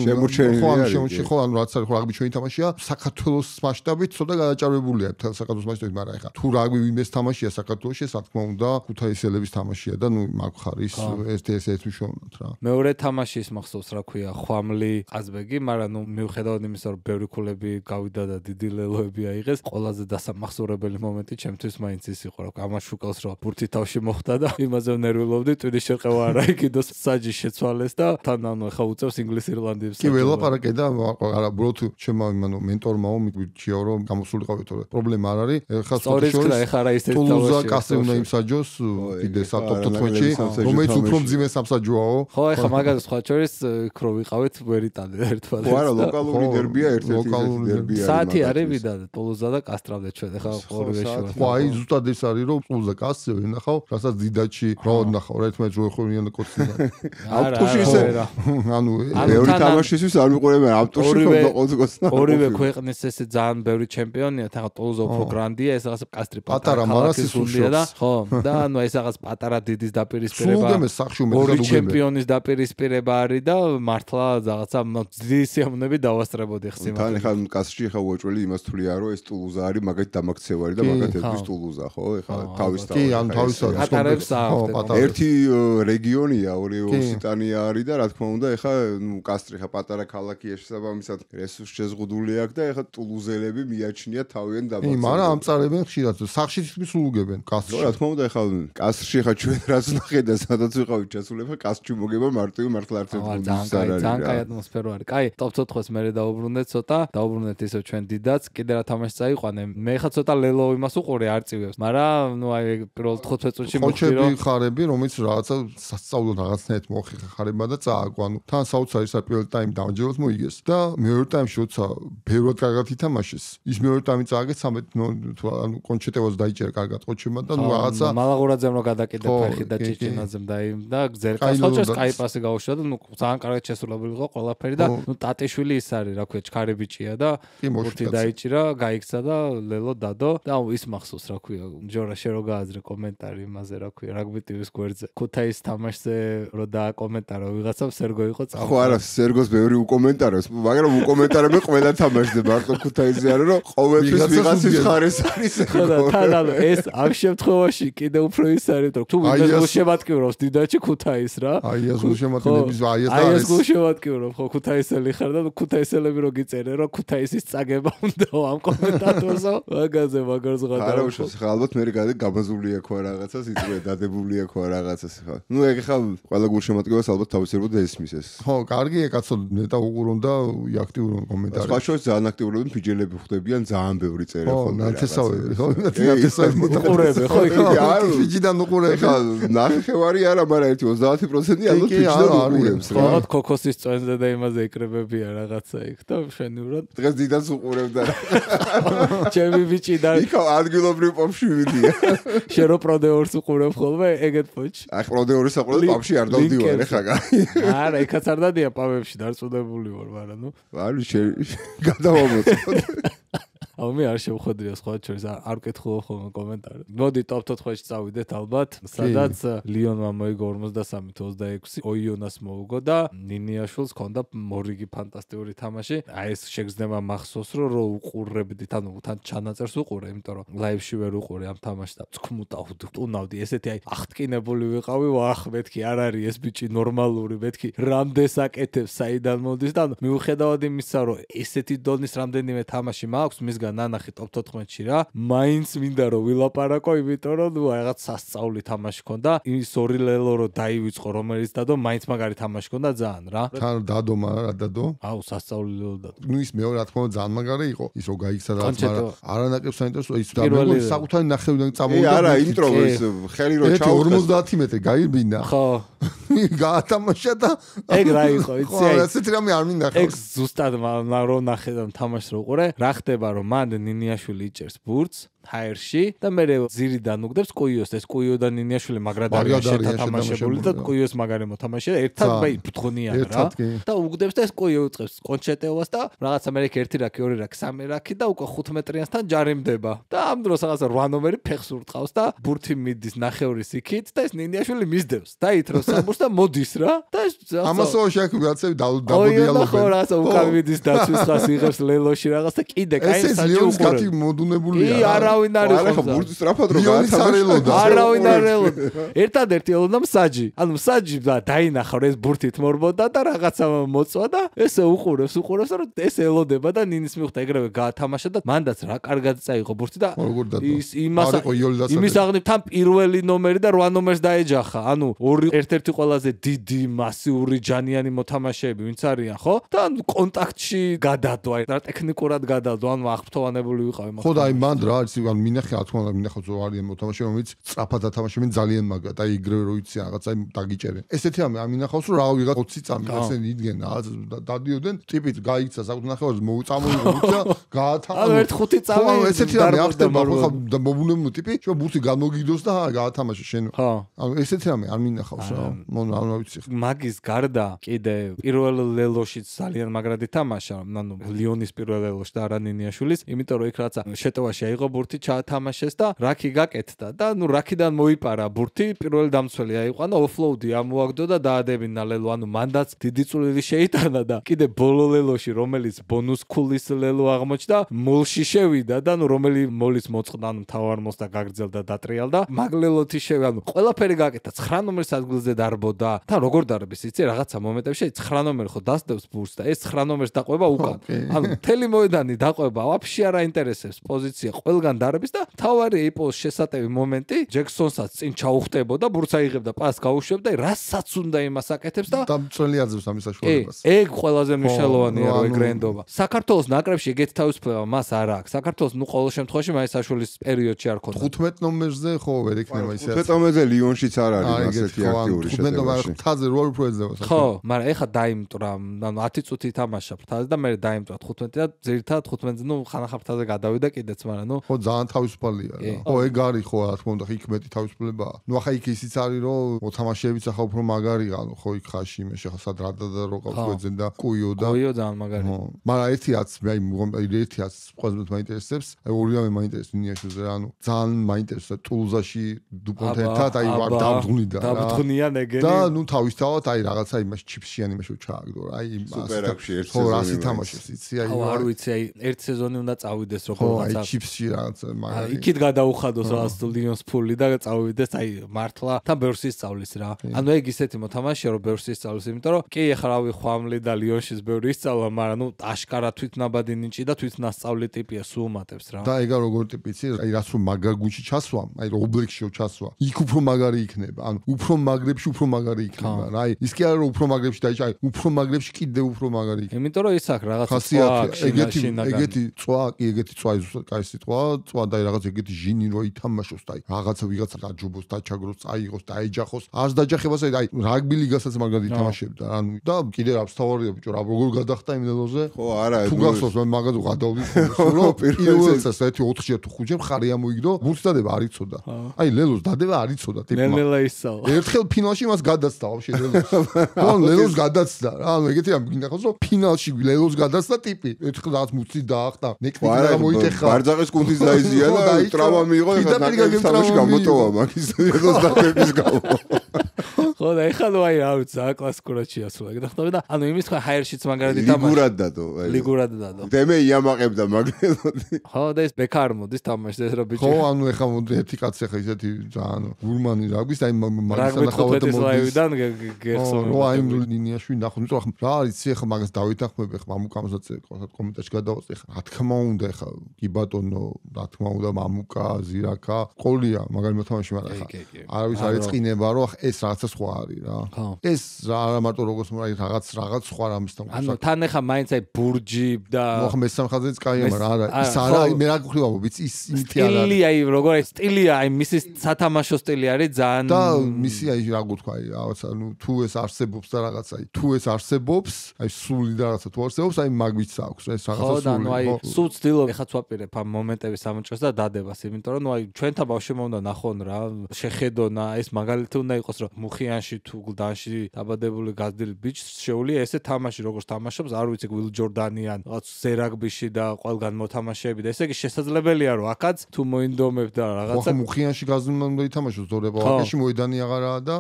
Speaker 1: შემორჩენილი
Speaker 3: ხო, ანუ შემორჩენილი ხო, ანუ რაც არის ხო, რაგბი ჩვენი თამაშია, საქართველოს მასშტაბით ცოტა გადაჭარბებულია მთელ საქართველოს მასშტაბით, მაგრამ ეხლა თუ რაგბი ვინმეს თამაშია საქართველოში, რა თქმა უნდა, ქუთაისელების თამაშია და ნუ მაგ ხარის ეს ეს ეს მნიშვნელოვნად რა.
Speaker 2: მეორე თამაში ის მახსოვს რა ქვია, ხვამლი ყაზბეგი, მაგრამ ნუ მიუხედავად იმისა, რომ ბევრი ქულები გავიდა და დიდი ლელოები აიღეს, ყველაზე დასამახსოვრებელი მომენტი ჩემთვის მაინც ის იყო, რომ ამას შუკელს რომ ბურთი თავში მოხდა და იმაზე ნერვიულობდი, ტვინის შერყევა არა იქიდოს საჯი შეცვალეს და თან ანუ ახლა უწევს ინგლისურ ირლანდიებს.
Speaker 3: კი ველაპარაკე და არა ბროთ ჩემო იმანო მენტორმაო მიგვიჩიო რომ გამოსულიყავი თორე პრობლემა არ არის. ეხლა
Speaker 2: სწორედ ეხლა რა ისეთი
Speaker 3: თავში ტულუზა კასე უნდა იმსაჯოს კიდე სატოპ თოთმეტში, რომელიც უფრო მძიმე სამსაჯოაო.
Speaker 2: ხო, ეხლა მაგაზე სხვა შორის იქ რო ვიყავით ვერიტანე ერთმანეთს.
Speaker 1: ხო, არა, ლოკალური დერბია ერთ-ერთი დერბია.
Speaker 2: საათი არის ვიდა ტულუზა და კასტრავდა ჩვენ ეხლა ორივე შუა.
Speaker 3: ხო, აი ზუსტად ეს არის რომ ტულუზა კასე ვერ ნახავ, რასაც დიდაჩი რაოდ ნახავ, ერთმანეთს რო ეხურიან და კოცნიან.
Speaker 1: ავტოში ისე ანუ მეორე თამაშისთვის არ მიყურებენ ავტოში ხომ ყოცკოცნა.
Speaker 2: ორივე ქვეყნის ესე ძალიან ბევრი ჩემპიონია, ეხლა ტულუზა უფრო გრანდია, ეს რაღაც კასტრი
Speaker 3: პატარა მარასის უშია
Speaker 2: და ხო, და ანუ ეს რაღაც პატარა დიდის დაპირისპირება.
Speaker 3: სულგემეს სახში უმეტეს
Speaker 2: ორი ჩემპიონის დაპირისპირება არის და მართლა რაღაცა დიდი სიამოვნები დავასწრებოდი ხსიმ.
Speaker 1: თან ეხლა კასში ეხლა უეჭველი იმას თვლია რომ ეს ტულუზა არის მაგათ დამაქცევარი და მაგათ ერთვის ტულუზა ხო ეხლა თავის თავი.
Speaker 3: კი, ანუ თავისთავად
Speaker 2: პატარებს აქვს.
Speaker 1: ერთი რეგიონია, ორი ოსიტანია არის და რა თქმა უნდა ეხლა ნუ კასტრი ხა პატარა ქალაქია შესაბამისად რესურს შეზღუდული აქვს და ეხლა ტულუზელები მიაჩნია თავიანთ დამაქცევას.
Speaker 3: კი, მაგრამ ამწარებენ ხშირად სახში თითქმის უგებენ კასში.
Speaker 1: რა თქმა უნდა ეხლა კასში ხა ჩვენ რაც ნახეთ და სადაც ვიყავით ჩასულება კასში მოგება მარტივი მართლა არც ერთ გუნდს არ არის.
Speaker 2: ძალიან კაი ატმოსფერო არის. კაი, ტოპ ოთხს მერე დაუბრუნდეთ ცოტა, დაუბრუნდეთ ისევ ჩვენ დიდაც, კიდე რა თამაში წაიყვანე. მე ხა ცოტა ლელო იმას უყურე არ წივებს, მაგრამ ნუ აი პირველ თხუთმეტ წუთში მოვხდი რომ
Speaker 3: ხოჩები ხარები, რომელიც რაღაცა სასწავლო რაღაცნაირად მოხერხება და წააგო. ანუ თან საოცარი პირველ ტაიმი დამჯეროთ მოიგეს და მეორე ტაიმში როცა ბევრად კარგად ითამაშეს, ის მეორე ტაიმი წააგეს ცამეტ თუ ანუ კონჩეტევას დაიჭერა კარგად ყოჩებმა და ნუ რაღაცა
Speaker 2: მალაღურაძემ რო გადაკიდა ფეხი და ჭიჭინაძემ და იმ და გზერკას ხოჩას კაი პასი გაუშვა და ნუ ძალიან კარგად შესრულებული იყო ყველაფერი და ნუ ტატიშვილი ის არის რა ქვია ჩქარი ბიჭია და ბურთი დაიჭირა, გაიქცა და ლელო დადო და ის მახსოვს რა ქვია ჯორა შე რო გააზრე კომენტარი იმაზე რა ქვია რაგბი ტივის გვერდზე ქუთაის თამაშზე რო დააკომენტარა ვიღაცამ სერგო იყო წავ
Speaker 1: ხო არა სერგოს ბევრი უკომენტარებს მაგრამ უკომენტარები ყველა თამაშზე მარტო ქუთაისზე არა რომ ყოველთვის ვიღაცის ხარეს არის
Speaker 2: ხო და თან ანუ ეს ამ შემთხვევაში კიდე უფრო ის არის რომ თუ ვიღაც გულშემატკივრობს დიდაჩი ქუთაის რა
Speaker 3: აი ეს გულშემატკივრების აი ეს
Speaker 2: აი ეს გულშემატკივრობ ხო ქუთაისელი ხარ და ქუთაისელები რო გიწერენ რომ ქუთაისის წაგება უნდა ამ კომენტატორსო მაგაზე მაგარს გადავა
Speaker 1: არა უშავს ხა ალბათ მე გადი გამაზულია ხო რაღაცას იწვე დადებულია ხო რაღაცას ხა ნუ ეგ ხა ყველა გულშემატკივრებას ალბათ თავისებურად ესმის ეს
Speaker 3: ხო კარგია კაცო ნეტა უყურონ და აქტიურონ კომენტარები
Speaker 1: სხვა შორის ძალიან აქტიურობენ ფიჯელები ხვდებიან ძალიან ბევრი წერენ
Speaker 3: ხო ნათესავები ხო ნათესავები
Speaker 2: უყურებ ხო
Speaker 3: იქ ფიჯიდან უყურებ
Speaker 1: ხა ნახევარი არა მაგრამ ერთი ოცდაათი პროცენტი ალბათ ფიჯიდან უყურებს რა
Speaker 2: ხო ქოქოსის წვენზე და იმაზე იკრებებია რაღაცა იქ და მშვენივრად
Speaker 1: დღეს დიდას უყურებდა
Speaker 2: ჩემი ბიჭი და
Speaker 1: იქ ადგილობრივ პოპში ვიდია
Speaker 2: შენ რო პროდეორს უყურებ ხოლმე ეგეთ პოჩ
Speaker 1: აი პროდეორის საყურებ პოპში არ არ დავდივარ ეხლა კაი.
Speaker 2: არა, იქაც არ დადია პავებში დარწმუნებული ვარ, მაგრამ ნუ
Speaker 1: ვარ გადავამოწმოთ.
Speaker 2: აუ მე არ შევხვედრია სხვა შორის არ ვკითხულობ ხოლმე კომენტარებს. მოდი ტოპ ოთხში წავიდეთ ალბათ, სადაც ლიონმა მოიგო ორმოცდასამი ოცდაექვსი, ოიონას მოუგო და ნინიაშვილს ჰქონდა მორიგი ფანტასტიკური თამაში. აი ეს შეგრძნება მახსოვს, რომ უყურებდით, ანუ თან ჩანაწერს უყურე, იმიტომ რომ ლაივში ვერ უყურე ამ თამაშს და წქმუტავდი, ტუნავდი, ესეთი აი აღტკინებული ვიყავი, ვახ, მეთქი არ არის ეს ბიჭი ნორმალური, მეთქი რამდენს აკეთებს, საიდან მოდის და მიუხედავად იმისა, რომ ესეთი დონის რამდენიმე თამაში მაქვს, მისგან ნანახი ტოპ ოთხმეტში რა, მაინც მინდა რომ ვილაპარაკო, იმიტომ რომ ნუ რაღაც სასწაული თამაში ქონდა. ის ორი ლელო რო დაივიწყო, რომელიც დადო, მაინც მაგარი თამაში ქონდა ძალიან რა.
Speaker 3: თან დადო, მაგრამ რა დადო?
Speaker 2: აუ, სასწაული ლელო დადო.
Speaker 3: ნუ ის მეორე რა თქმა უნდა ძალიან მაგარი იყო. ის რო გაიქცა და მაგრამ არანაკლებ საინტერესო ის დამეგო საკუთარი ნახევიდან წამოვიდა.
Speaker 1: არა, ინტრო ის ხელი რო ჩაუყეს.
Speaker 3: ორმოცდაათი მეტრი გაირბინა.
Speaker 2: ხო.
Speaker 3: გაათამაშა და
Speaker 2: ეგ რა იყო, იცი?
Speaker 3: ხო, ესეთი რამე არ მინდა ხო.
Speaker 2: ეგ ზუსტად რო ნახე და თამაშს რო უყურე, რა ხდება რომ მან ნინიაშვილი იჭერს ბურთს ჰაერში და მე ზირიდან უგდებს კუიოს, ეს კუიო და ნინიაშვილი მაგრადარია შეთამაშებული და კუიოს მაგარი მოთამაშე ერთად ბაი ბთხონიან რა და უგდებს და ეს კუიო უწყებს კონჩეტეოვას და რაღაცა მე ერთი რაკი, ორი რაკი, სამი რაკი და უკვე ხუთ მეტრიანსთან ჯარიმდება და ამ დროს რაღაცა რვა ნომერი ფეხს ურტყავს და ბურთი მიდის ნახევრის იქით და ეს ნინიაშვილი მისდევს და ითროს საბურთს და მოდის რა და
Speaker 3: ამასო შეაქვს რაღაცები დაბოდიალობენ
Speaker 2: ხო რაღაცა უკან მიდის დაცვის ხას იღებს ლელოში რაღაც და კიდე კაი საჯი
Speaker 3: უყურებს ეს მოდუნებულია
Speaker 2: არავინ არ იყო.
Speaker 1: ხო, ბურთი სწრაფად რო
Speaker 3: გაათამაშა.
Speaker 2: არავინ არ ელოდა. ერთადერთი ელოდა მსაჯი. ანუ მსაჯი დაინახა რომ ეს ბურთით მორბოდა და რაღაცა მოწვა და ესე უყურებს, უყურებს რომ ეს ელოდება და ნინის მიხვდა ეგრევე გაათამაშა და მანდაც რა კარგად წაიღო ბურთი და ის იმას იმის აღნებ თან პირველი ნომერი და რვა ნომერს დაეჯახა. ანუ ორი ერთ-ერთი ყველაზე დიდი მასიური ჯანიანი მოთამაშეები ვინც არიან, ხო? და კონტაქტში გადადო, აი რა ტექნიკურად გადადო, ანუ აღფრთოვანებული ვიყავი მაგ.
Speaker 3: ხო და აი მანდ რა არის ან მინახე რა თქმა უნდა მინახავ ზო არიან მოთამაშე რომელიც სწრაფად ათამაშებენ ძალიან მაგრა და იგრევე რო იცი რაღაცა დაგიჭერენ. ესეთი ამი ამინახავს რომ რა ვიღა ოცი წამი ესენი იდგენ რა დადიოდნენ ტიპით გაიქცა საკუთარ ნახევარს მოუწამოიღო და გაათამაშა.
Speaker 2: ანუ ერთ ხუთი წამი
Speaker 3: ესეთი რამე ახდება ხო და მობუნებო ტიპი შო ბურთი გამოგიდოს და გაათამაშა შენ. ანუ ესეთი რამე არ მინახავს რა. მონ არ ვიცი.
Speaker 2: მაგის გარდა კიდე პირველ ლელოშიც ძალიან მაგრად ითამაშა. ანუ ლიონის პირველ ლელოში და არა ნინიაშვილის, იმიტომ რომ იქ რაცა შეტევაში აიღო ბურთი ჩაათამაშეს და რაკი გაკეთდა და ნუ რაკიდან მოიპარა ბურთი პირველი დამცველი აიყვანა ოფლოუდი ამოაგდო და დაადებინა ლელო ანუ მანდაც დიდი წვლილი შეიტანა და კიდე ბოლო ლელოში რომელიც ბონუს ქულის ლელო აღმოჩნდა მოლში შევიდა და ნუ რომელი მოლის მოწყდა ანუ თავარ მოსს და გაგრძელდა დატრიალდა მაგლელოთი შევიდა ანუ ყველაფერი გაკეთა ცხრა ნომერის ადგილზე დარბოდა თან როგორ დარბის იცი რაღაცა მომენტებში ცხრა ნომერი ხო დასდევს ბურთს და ეს ცხრა ნომერს დაყვება უკან ანუ მთელი მოედანი დაყვება ვაფშე არ აინტერესებს პოზიცია ყველგან დარბის და თავარი ეპოს შესატევი მომენტი ჯექსონსაც წინ ჩაუხტებოდა ბურთს აიღებდა პასს გაუშვებდა რასაც უნდა იმას აკეთებს და
Speaker 3: დამწველი აძლევს ამის საშუალებას
Speaker 2: ეგ ყველაზე მნიშვნელოვანია რომ ეგრენდობა საქართველოს ნაკრებში ეგეთ თავისუფლება მას არ აქვს საქართველოს ნუ ყოველ შემთხვევაში მაინც საშუალის პერიოდში არ ქონდა
Speaker 3: ხუთმეტ ნომერზე ხო ვერ იქნება ისე
Speaker 1: ხუთმეტ ნომერზე ლიონშიც არ არის ასეთი აქტიური
Speaker 3: შეტევა ხუთმეტ ნომერზე ფთაზე რო უფრო ეძება
Speaker 2: ხო მაგრამ ეხა დაიმტრა ანუ ათი წუთი ითამაშა ფთაზე და მე დაიმტრა ხუთმეტი და ძირითადად ხუთმეტზე ნუ ხანახა ფთაზე გადავიდა კიდეც მაგრამ ნუ
Speaker 3: ხო ძალიან თავისუფალია რა ხო ეგ არის ხო რა თქმა უნდა იქ მეტი თავისუფლებაა ნუ ახლა იქ ისიც არის რომ მოთამაშეებიც ახლა უფრო მაგარია ანუ ხო იქ ხაში მე შეხა სად რა და რო ყავსვეძენ და კუიო და
Speaker 2: კუიო ძალიან მაგარია
Speaker 3: მაგრამ ერთიაც მე აი ერთიაც ყველაზე მაინტერესებს აი ორივე მაინტერესებს ნიაშუზე რა ანუ ძალიან მაინტერესებს ტულზაში დუპონთან ერთად აი ვარ დავძღვნიდა რა
Speaker 2: დავძღვნიან ეგენი
Speaker 3: და ნუ თავისთავად აი რაღაცა იმას ჩიფსიანი იმაში ჩააგდო რა აი
Speaker 1: სუპერაკში ერთ
Speaker 3: სეზონი ხო რა სითამაშეს იცი აი
Speaker 2: ხო არ ვიცი აი ერთ სეზონი უნდა წავიდეს როგორ
Speaker 3: რაღაცა ხო აი ჩიფსი რაღაც
Speaker 2: აი იქით გადაუხადოს რაღაც ლიონს ფული და წავიდეს აი მართლა თან ბევრს ისწავლის რა ანუ ეგ ისეთი მოთამაშეა რომ ბევრს ისწავლის იმიტომ რომ კი ეხლა რავი ხვამლი და ლიონშიც ბევრი ისწავლა მაგრამ ნუ აშკარა თვითნაბადი ნიჭი და თვითნასწავლი ტიპია სულ უმატებს რა
Speaker 3: და ეგა როგორ ტიპი იცი აი რაც რომ მაგაგუჩი ჩასვა აი რომ ობლექშიო ჩასვა იქ უფრო მაგარი იქნება ანუ უფრო მაგრებში უფრო მაგარი იქნება რა აი ის კი არა რომ უფრო მაგრებში დაიჭა აი უფრო მაგრებში კიდე უფრო მაგარი იქნება
Speaker 2: იმიტომ რომ ის აქ რაღაცა
Speaker 3: ხასიათი ეგეთი ეგეთი წვა კი ეგეთი წვა ის კაი სიტყვა წვა და რაღაც ეგეთი ჟინი რო ითამაშოს და აი რაღაცა ვიღაცა დაჯობოს, დაჩაგროს, წაიღოს, დაეჯახოს. არც დაჯახებას აი რაგბი ლიგასაც მაგად ითამაშებდა. ანუ და კიდე რა ვსთავარია ბიჭო, რა როგორ გადახტა იმ ლელოზე?
Speaker 1: ხო, არა,
Speaker 3: თუ გახსოვს მე მაგად ვღადავდი ხოლმე, რომ პირველსაც ერთი ოთხჯერ თუ ხუთჯერ მხარი ამოიგდო, ბურთს დადება არ იცოდა. აი ლელოს დადება არ იცოდა ტიპმა.
Speaker 2: ნელ-ნელა ისალა.
Speaker 3: ერთხელ ფინალში მას გადაცდა ვაფშე ლელოს. ანუ ლელოს გადაცდა. ანუ ეგეთი რამე გინდა ხო, რომ ფინალში ლელოს გადაცდა ტიპი. ერთხელ რაღაც მუცი დაახტა, ნეკნიკი გამოიტეხა.
Speaker 1: ბარძაყის კუნთის დაიზია და ტრავმა მიიღო და ნაკრების თამაში გამოტოვა მაგის ლელოს დადების გამო.
Speaker 2: ხო და ეხლა ნუ აი რა ვიცი, რა კლასიკურად შეასრულა. გითხდები და ანუ იმის თქვა ჰაიერშიც მაგარად ითამაშა.
Speaker 1: ლიგურად დადო.
Speaker 2: ლიგურად დადო.
Speaker 1: დემე იამაყებდა მაგლელოდი.
Speaker 2: ხო და ეს ბექარ მოდის თამაშს ეს რა ბიჭი.
Speaker 3: ხო, ანუ ეხლა მოდი ერთი კაცი ეხლა ისეთი ძალიან გურმანი რაგბის აი მაგის
Speaker 2: ანახავდა მოდის. გეხსოვს.
Speaker 3: რო აი ნინიაში ნახო, ნუ რა არის ეხლა მაგას დავითანხმებ ეხლა მამუკამსაც კომენტარში გადავაწე ეხლა. რა თქმა უნდა ეხლა კი ბატონო, რა თქმა უნდა მამუკა, ზირაკა, ყოლია მაგარი მოთამაშე მაგრამ ეხლა. არავის არ ეწყინება რომ ეს რაღაცა სხვა არის რა. ეს რა მარტო როგორც აი რაღაც რაღაც სხვა რამის თამაში.
Speaker 2: ანუ თან ეხლა მაინც აი ბურჯი და
Speaker 3: ხო მესამე ხაზიც კაია მაგრამ არა ის არა მე რა გქრივა ვიცი ის იმითი არა.
Speaker 2: სტილი აი როგორ სტილია აი მისი სათამაშო სტილი არის ძალიან
Speaker 3: და მისი აი რა გქვა აი რაღაცა ნუ თუ ეს არსებობს და რაღაცა აი თუ ეს არსებობს აი სული და რაღაცა თუ არსებობს აი მაგვიც აქვს ეს რაღაცა სული.
Speaker 2: ხო და ნუ აი სულ ცდილობ ეხაც ვაპირებ ამ მომენტების სამჭრელს და დადებას იმიტომ რომ ნუ აი ჩვენთან ბავშვებმა უნდა ნახონ რა შეხედონა ეს მაგალითი უნდა იყოს რომ მუხიანში თუ გლდანში დაბადებული გაზრდილი ბიჭს შეუძლია ესე თამაში როგორც თამაშობს არ ვიცი ვილ ჯორდანიან რაღაც ზერაგბიში და ყველგან მოთამაშეები და ესე იგი შესაძლებელია რომ აქაც თუ მოინდომებ და რაღაცა
Speaker 3: ხო მუხიანში გაზრდილი უნდა ითამაშოს ზორება ვაკეში მოედანი აღარაა და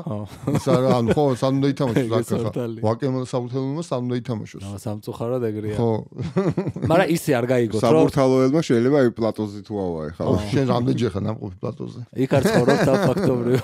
Speaker 3: ის არა ანუ ხო სამ უნდა ითამაშოს აქ ვაკემო და საბურთალოებმა სამ უნდა ითამაშოს
Speaker 2: სამწუხაროდ ეგრეა
Speaker 3: ხო
Speaker 2: მაგრამ ისე არ გაიგოთ რომ
Speaker 1: საბურთალოებმა შეიძლება აი პლატოზე თუ ავა ეხლა
Speaker 3: შენ რამდენჯერ ხარ ნამყოფი პლატოზე
Speaker 2: იქ არ ცხოვრობ და ფაქტობრივ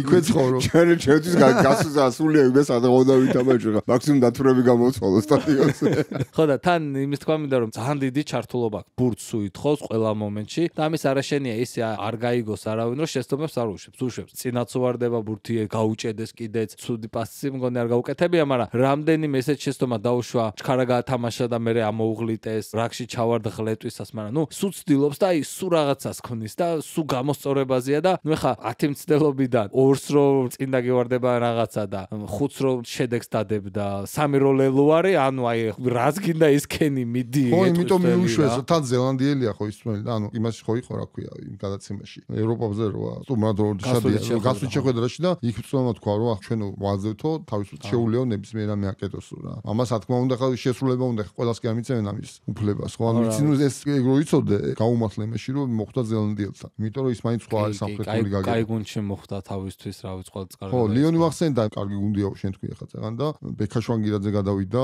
Speaker 3: იქვე ცხოვრობ
Speaker 1: ჩვენ ჩვენთვის გასულა სულია იმას არ უნდა ვითამაშო მაქსიმუმ დათურები გამოცვალო სტადიონზე
Speaker 2: ხო და თან იმის თქვა მინდა რომ ძალიან დიდი ჩართულობა ბურთს უითხოვს ყველა მომენტში და ამის არაშენია ისე არ გაიგოს არავინ რომ შეცდომებს არ უშვებს უშვებს წინაც უვარდება ბურთი გაუჭედეს კიდეც ცუდი პასი მგონი არ გაუკეთებია მაგრამ რამდენიმე ესეთ შეცდომა დაუშვა ჩქარა გაათამაშა და მე ამოუღლიტეს რაკში ჩავარდა ღლეტვისას მაგრამ ნუ სულ ცდილობს და აი სულ რაღაცას ქნის და სულ გამოსწორებაზეა და ნუ ეხა ათი მცდელობიდან ორს რო წინ დაგევარდება რაღაცა და ხუთს რო შედეგს დადებდა სამი რო ლელო არის ანუ აი რას გინდა ის კენი მიდი
Speaker 3: ხო იმიტომ მიუშვეს თან ზელანდიელია ხო ისმელი და ანუ იმაში ხო იყო რა ქვია იმ გადაცემაში ევროპაზე როა სტუმრად რო შედია გასული შეხვედრაში და იქ უცნაურად თქვა რომ ჩვენ ვაძებთო თავისუფლად შეულიო ნებისმიერ რამე აკეთოსო რა ამას რა თქმა უნდა ხა შესრულება უნდა ყველას კი ამიცემენ ამის უფლებას ხო ანუ იცი ნუ ეს რო იცოდე გაუმართლა იმაში რომ მოხდა ზელანდიელთან იმიტომ რომ ის მაინც სხვა არის სამხრეთული გაგება
Speaker 2: კაი გუნდში მოხდა თავისთვის რა ვიცი ყველა წყარდა
Speaker 3: ხო ლიონი მახსენდა კარგი გუნდია შენ თქვი ახლა წეგან და ბექაშვანგირაძე გადავიდა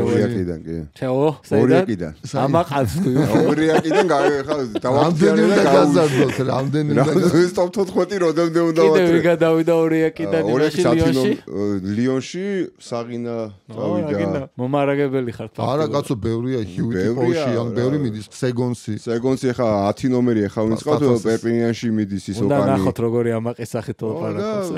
Speaker 1: ორიაკიდან კი
Speaker 2: თეო
Speaker 1: ორიაკიდან
Speaker 2: ამაყავს თქვი
Speaker 1: ორიაკიდან ხა
Speaker 3: დავამტენი და გაზარდოთ რამდენი და
Speaker 1: ეს ტოპ თოთხმეტი როდემდე უნდა ვატრი
Speaker 2: კიდევ გადავიდა ორიაკიდან იმაში ლიონში
Speaker 1: ლიონში საღინა წავიდა
Speaker 2: მომარაგებელი ხარ
Speaker 3: არა კაცო ბევრია ჰიუიტი პოლში ან ბევრი მიდის სეგონსი
Speaker 1: სეგონსი ხა ათი ნომერი ხა ვინც ყავთ პერპინიანში მიდის ის ოკანი
Speaker 2: უნდა ნახოთ როგორი ამაყის სახით ლაპარაკობს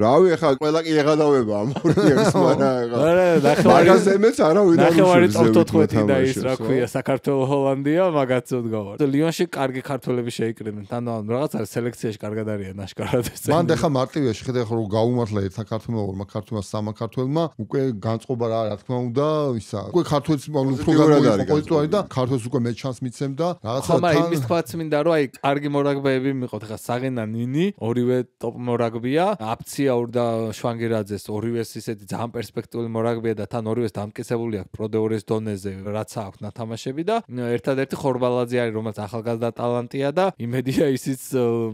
Speaker 1: რავი ხა ყველა კი ეღადავება ამ ორიაკს მაგრამ
Speaker 2: არა ნახევარი
Speaker 1: მაგაზემეც არავინ არ
Speaker 2: ნახევარი ტოპ თოთხმეტი და ის რა ქვია საქართველოს ჰოლანდია მაგაცოდ გავარ ლიონში კარგი ქართველები შეიკრიბნენ ანუ რაღაც არის სელექციაში კარგად არიან აშკარად ეს
Speaker 3: მან და ხა მარტივია შეხედე ხო რომ გაუმართლა ერთ ქართველმა ორმა ქართველმა სამმა ქართველმა უკვე განწყობა რა რა თქმა უნდა ისა უკვე ქართველს უფრო გადმოიყვანო და ქართველს უკვე მე ჩანს მიცემდა რაღაცა
Speaker 2: თან ხომ იმის თქვაც მინდა რომ აი კარგი მორაგბეები მიყოთ ხა საღენა ნინი ორივე ტოპ მორაგბია აფციაურ და შვანგირაძეს ორივეს ისეთი ძალიან პერსპექტიული მორაგბია და თან ორივეს დამტკიცებული აქვს პროდეორის დონეზე რაც აქვს ნათამაშები და ერთადერთი ხორბალაძე არის რომელიც ახალგაზრდა ტალანტია და იმედია ისიც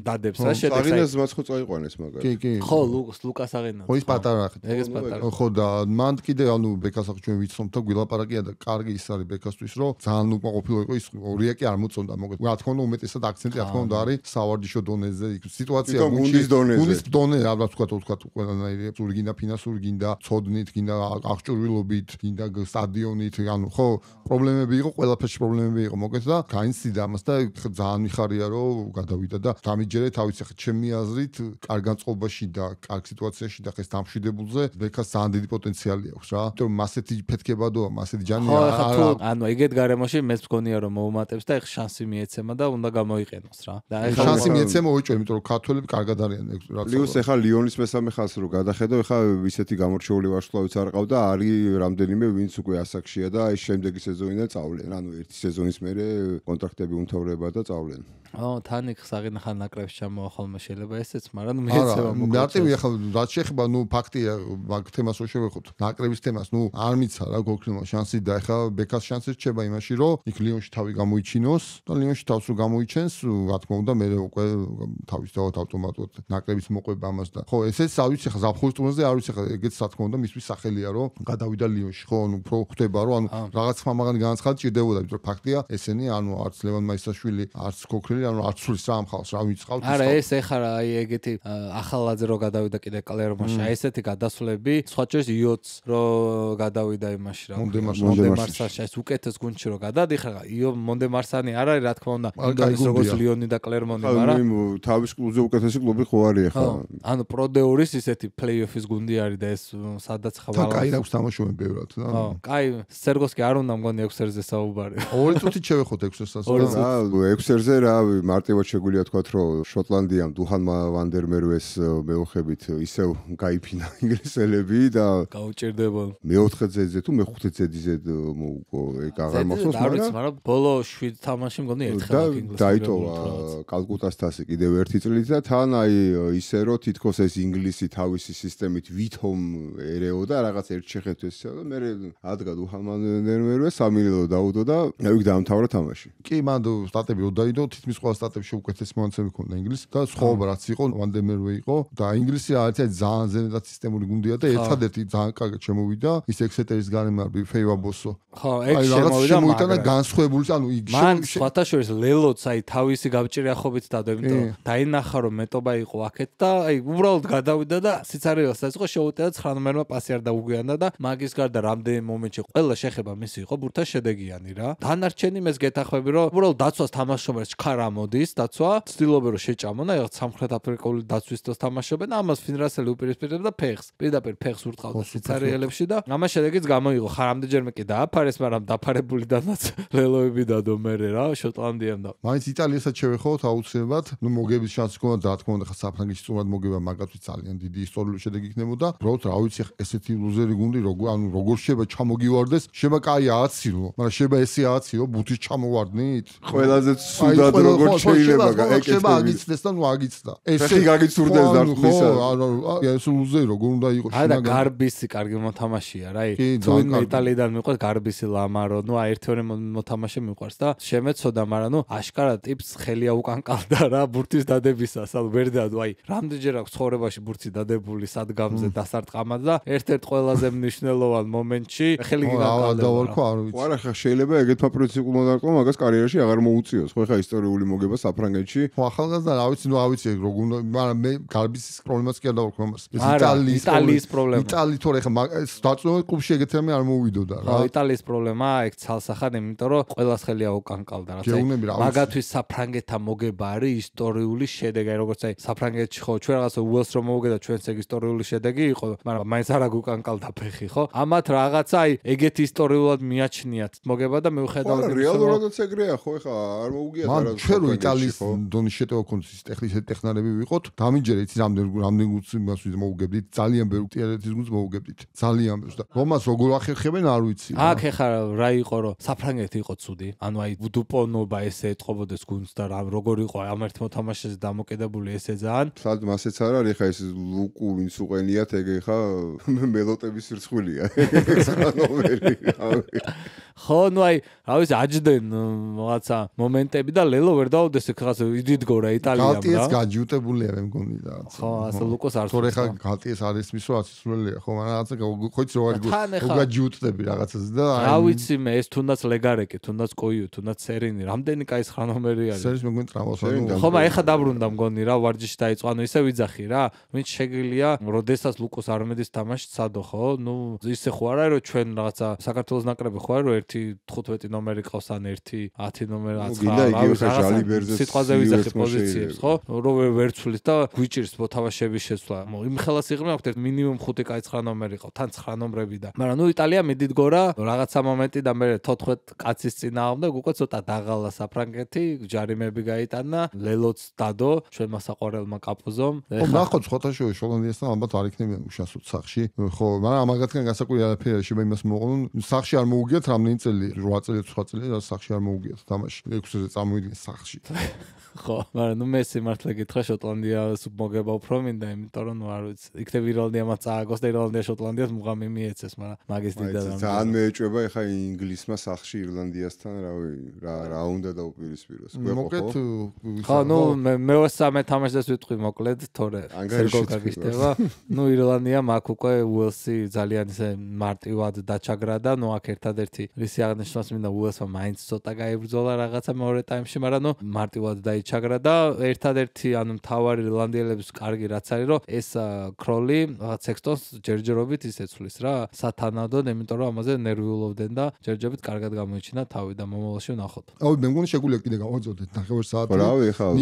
Speaker 2: დადებს რა შედეგს
Speaker 1: საღენას მას ხო წაიყვანეს მაგარი
Speaker 3: კი კი
Speaker 2: ხო ლუკას საღენა
Speaker 3: ხო ის პატარა
Speaker 2: ეგეც პატარა
Speaker 3: ხო და მან კიდე ანუ ბეკას ახ ჩვენ ვიცნობთ და გვილაპარაკია და კარგი ის არის ბეკასთვის რომ ძალიან უკმაყოფილო იყო ის ორიაკი არ მოწონდა მოგეთ რა თქმა უნდა უმეტესად აქცენტი რა თქმა უნდა არის სავარჯიშო დონეზე სიტუაცია
Speaker 1: გუნდის დონეზე
Speaker 3: გუნდის დონე რა ვთქვა თქვა ყველანაირი სულ გინდა ფინანსური გინდა ცოდნით გინდა აღჭურვილობით გინდა სტადიონით ანუ ხო პრობლემები იყო ყველაფერში პრობლემები იყო მოგეთ და გაინცდიდა ამას და ძალიან მიხარია რომ გადავიდა და დამიჯერე თავის ახლა ჩემი აზრით კარგ განწყობაში და კარგ სიტუაციაში და ხეს დამშვიდებულზე ბეკას ძალიან დიდი პოტენციალი აქვს რა იმიტომ რომ მასეთი ფეთქებადოა მასეთი ჯანი
Speaker 2: არა ანუ ეგეთ გარემოში მეც მგონია რომ მოუმატებს და ეხ შანსი მიეცემა და უნდა გამოიყენოს რა. და
Speaker 3: ეხლა შანსი მიეცემა ოჭო, იმიტომ რომ ქართველები კარგად არიან რა.
Speaker 1: პლუს ეხლა ლიონის მესამე ხაზს რო გადახედო, ეხლა ისეთი გამორჩეული ვარსკვლავიც არ ყავდა, არის რამდენიმე ვინც უკვე ასაკშია და აი შემდეგი სეზონიდან წავლენ. ანუ ერთი სეზონის მერე კონტრაქტები უმთავრდება და წავლენ.
Speaker 2: ო, თან იქ საღინახან ნაკრებში ჩამოვა ხოლმე შეიძლება ესეც, მაგრამ მიეცემა
Speaker 3: მოკლა. მარტივი ახლა რაც შეეხება, ნუ ფაქტია, მაგ თემას რო შევეხოთ. ნაკრების თემას, ნუ არ მიცა რა გოქრილმა შანსი და ახლა ბეკას შანსი რჩება იმაში, რომ იქ ლიონში თავი გამოიჩინოს და ლიონში თავს რო გამოიჩენს, რა თქმა უნდა, მე უკვე თავის დავთ ავტომატურად ნაკრების მოყვება ამას და ხო, ესეც არ ვიცი ახლა ზაფხულის ტურნირზე არ ვიცი ახლა ეგეც რა თქმა უნდა მისთვის სახელია, რომ გადავიდა ლიონში, ხო, ნუ უფრო ხდება, რომ ანუ რაღაც ხმამაღალი განაცხადი ჭირდებოდა, იმიტომ რომ ფაქტია, ესენი ანუ არც ლევან მაისაშვილი, არც გოქრილი ანუ არ ცulis რა ამხავს რა ვიცყავთ
Speaker 2: ის. არა, ეს ეხარა აი ეგეთი ახალაძე რო გადავიდა კიდე კლერმონში, აი ესეთი გადასვლები, სხვა შორის იოც რო გადავიდა იმაში რა. მონდემარსაში ეს უკეთეს გუნდში რო გადადიხარ, იო მონდემარსანი არ არის რა თქმა უნდა, ის როგორც ლიონი და კლერმონი, მაგრამ
Speaker 1: თავის კლუბზე უკეთესი კლუბი ხო არის ახლა.
Speaker 2: ანუ პროდეურის ისეთი პლეიოფის გუნდი არის და ეს სადაც ხვალ.
Speaker 3: და კაი აქვს თამაშობენ ბევრად.
Speaker 2: ხო, კაი, სერგოსკი არ უნდა მგონი ექვს ერზე საუბარი.
Speaker 3: ორი წუთით შევეხოთ ექვს ერს.
Speaker 1: რა, ექვს ერზე რა მარტივად შეგვიძლია თქვათ, რომ შოტლანდიამ დუჰან ვანდერმერვეს მეოხებით ისევ გაიფინა ინგლისელები და
Speaker 2: გაუჭირდება.
Speaker 1: მეოთხე ძედზე თუ მეხუთე ძედზე მოუგო, ეგ აღარ მახსოვს,
Speaker 2: მაგრამ ბოლო შვიდ თამაში მგონი ერთხელ
Speaker 1: ინგლისელები დაიტოვა კალკუტას თასი კიდევ ერთი წლით და თან აი ისე რომ თითქოს ეს ინგლისი თავისი სისტემით ვითომ ერეოდა რაღაც ერთ შეხედვეს და მე ადგა დუჰან ვანდერმერვეს სამილო დაუდო და აი დაამთავრა თამაში.
Speaker 3: კი, მან სტატები უდაიდო, თითქმის ყველა სტატებში უკეთესი მონაცემი ქონდა ინგლისს და სხვაობა რაც იყო, ვანდერმერვე იყო და ინგლისი არის ძალიან ზენადად სისტემური გუნდია და ერთადერთი ძალიან კარგად შემოვიდა ის ექსეტერის გარემარბი ფეივა ბოსო.
Speaker 2: ხო, ეგ შემოვიდა,
Speaker 3: მაგრამ განსხვავებული, ანუ იქ
Speaker 2: მან სხვათა შორის ლელოც აი თავისი გავჭირიახობით დადო, იმიტომ რომ დაინახა რომ მეტობა იყო აქეთ და აი უბრალოდ გადავიდა და სიცარიელსაც იყო შეუტევა ცხრა ნომერმა პასი არ დაუგვიანდა და მაგის გარდა რამდენი მომენტში ყველა შეხება მისი იყო ბურთა შედეგიანი რა. დანარჩენი მეს გეთახმები რომ უბრალოდ დაცვას თამაშობენ ჩქარ ამოდის დაცვა, ცდილობენ რომ შეჭამონ, აი სამხრეთ აფრიკული დაცვის დროს თამაშობენ, ამას ფინრასელი უპირისპირდება ფეხს. პირდაპირ ფეხს ურტყავდა სიცარიელებში და ამას შედეგიც გამოიღო. ხარ ამდენჯერმე კი დააფარეს, მაგრამ დაფარებულიდანაც ლელოები დადო მერე რა შოტლანდიამ და.
Speaker 3: მაინც იტალიასაც შევეხოთ აუცილებლად, ნუ მოგების შანსი ქონდა და რა თქმა უნდა ხა საფრანგეთში სწორად მოგება მაგათვით ძალიან დიდი ისტორიული შედეგი იქნებოდა. უბრალოდ რა ვიცი ესეთი ლუზერი გუნდი როგორ ანუ როგორ შეიძლება ჩამოგივარდეს, შეიძლება კაი ააცილო, მაგრამ შეიძლება ესე ააციო ბუთის ჩამოვარდნით.
Speaker 1: ყველაზე ცუდად როგორ შეიძლება
Speaker 3: ეკეთება აგიცდეს და ნუ აგიცდა.
Speaker 1: ესე გაგიცურდეს დარტყმისა.
Speaker 3: ანუ ეს ლუზერი როგორ უნდა იყოს
Speaker 2: შინაგან. აი და გარბისი კარგი მოთამაშეა რა. თუ იტალიიდან მიყვარს გარბისი ლამარო, ნუ აი ერთი ორი მოთამაშე მიყვარს და შემეცოდა, მაგრამ ნუ აშკარა ტიპს ხელია უკან კალდა რა ბურთის დადებისას. ანუ ვერ დადო, აი რამდენჯერ აქვს ცხოვრებაში ბურთი დადებული სადგამზე დასარტყამად და ერთ-ერთ ყველაზე მნიშვნელოვან მომენტში ხელი
Speaker 3: გიგაკალდა.
Speaker 1: ხო არა, ხა შეიძლება ეგეთმა პრინციპულმა დარტყმა მაგას კარიერაში აღარ მოუწიოს. ხო ხა ისტორიული მოგება საფრანგეთში.
Speaker 3: ხო ახალგაზრდა რა ვიცი, ნუ ავიცი როგორ უნდა, მაგრამ მე გარბისის პრობლემას კი არ დავარქვი ამას. ეს იტალიის
Speaker 2: იტალიის პრობლემა.
Speaker 3: იტალია თორე ხა დაწვევით კლუბში ეგეთი რამე არ მოვიდოდა რა.
Speaker 2: ხო, იტალიის პრობლემა ეგ ცალსახად, იმიტომ რომ ყველას ხელია უკან კალდა რა. მაგათთვის საფრანგეთთან მოგება არის ისტორიული შედეგი, როგორც აი საფრანგეთში ხო ჩვენ რაღაცა უელს რომ მოვუგე და ჩვენც ეგ ისტორიული შედეგი იყო, მაგრამ მაინც არ აგუკან კალდა ფეხი, ხო? ამათ რაღაცა აი ეგეთი ისტორიულად მიაჩნიათ მოგება და მიუხედავად
Speaker 1: იმისა, რეალურადაც ეგრეა, ხო, ეხა არ მოუგიათ
Speaker 3: არა. ჩვენ რო იტალიის დონის შეტევა ქონდეს ის ტექნიკა ტექნარები ვიყოთ, დამიჯერე იცი რამდენ რამდენ გუნდს იმას მოვუგებდით, ძალიან ბევრ ტიარეთის გუნდს მოვუგებდით. ძალიან ბევრს და რომას როგორ ახერხებენ არ ვიცი.
Speaker 2: აქ ეხა რა იყო რომ საფრანგეთი იყო ცუდი, ანუ აი დუპონობა ესე ეთყობოდეს გუნდს და რა როგორ იყო ამ ერთ მოთამაშეზე დამოკიდებული ესე ძალიან.
Speaker 1: სად მასეც არ არის ეხა ეს ლუკუ ვინც უყენიათ ეგ ეხა მელოტების რცხვილია.
Speaker 2: ხო, ნუ აი რა ვიცი აჯდენ რაღაცა მომენტები და ლელო ვერ დაუდეს ეგ რაღაცა იდიდგო რა იტალიამ რა.
Speaker 3: გალტიეს გაჯუტებულია მე მგონი რა.
Speaker 2: ხო, ასე ლუკოს არ
Speaker 3: თორე ხა გალტიეს არის მისო აცისრულია, ხო, მაგრამ რაღაცა ხოიც რო არის გაგაჯუტდები რაღაცაზე და
Speaker 2: აი რა ვიცი მე ეს თუნდაც ლეგარეკი, თუნდაც კოიუ, თუნდაც სერინი, რამდენი კაი ცხრა ნომერი არის.
Speaker 3: სერის მე მგონი ტრამოს ანუ
Speaker 2: ხო, მაგრამ ეხა დაბრუნდა მგონი რა ვარჯიში დაიწყო, ანუ ისე ვიძახი რა, ვინც შეგიძლია როდესაც ლუკოს არმედის თამაში ცადო, ხო? ნუ ისე ხო არა რომ ჩვენ რაღაცა საქართველოს ნაკრები ხო არა რომ ერთი თხუთმეტი ნომერი ყავს ან ერთი ათი ნომერი აცხრა. სიტყვაზე ვიძახი პოზიციებს, ხო? რომ ვერ ცვლის და გვიჭირს მოთამაშეების შეცვლა. იმ ხელას იღრმე აქვს ერთ მინიმუმ ხუთი კაი ცხრა ნომერი ყავს, თან ცხრა ნომრები და. მაგრამ ნუ იტალია მიდიდგო რა რაღაცა მომენტი და მე თოთხმეტ კაცის წინააღმდეგ უკვე ცოტა დაღალა საფრანგეთი, ჯარიმები გაიტანა, ლელოც დადო, ჩვენმა საყვარელმა კაპოზომ.
Speaker 3: ხო, ნახოთ ხოთაშოვი შოტლანდიასთან ალბათ არ იქნებიან უშასოდ სახში. ხო, მაგრამ ამაგათგან განსაკუთრებული არაფერი შეიძლება იმას მოყოლონ. სახში არ მოუგიათ რამდენი წელი, ორი წელი, ცხრა წელი, რა სახში არ მოუგიათ თამაში. ექვსზე წამოვიდნენ სახში.
Speaker 2: ხო, მაგრამ ნუ მე სიმართლე გითხრა შოტლანდიას მოგება უფრო მინდა, იმიტომ რომ ნუ არ ვიცი. იქნებ ირლანდია მას წააგოს და ირლანდია შოტლანდიას მუღამი მიეცეს, მაგრამ მაგის დიდად არ.
Speaker 1: ძალიან მეეჭვება ეხა ინგლისმა სახში ირლანდიასთან რავი, რა რა უნდა დაუპირისპიროს.
Speaker 3: მოკლედ
Speaker 2: ხო, ნუ მე მესამე თამაშს ვიტყვი მოკლედ, თორე სერგო გაგიშტება. ნუ ირლანდია მაგ უკვე უელსი ძალიან ისე მარტივად დაჩაგრა და ნუ აქ ერთადერთი რისი აღნიშნავს მინდა უელსმა მაინც ცოტა გაიბრძოლა რაღაცა მეორე ტაიმში, მაგრამ ნუ მარტივად ჩაგრა და ერთადერთი ანუ მთავარი ირლანდიელების კარგი რაც არის რომ ეს კროლი სექსტონს ჯერჯერობით ისეცვლის რა სათანადოდ, იმიტომ რომ ამაზე ნერვიულობდნენ და ჯერჯერობით კარგად გამოიჩინა თავი და მომავალში ვნახოთ.
Speaker 3: აუ მე მგონი შეგვიძლია კიდე გავაძოდეთ ნახევარ საათი.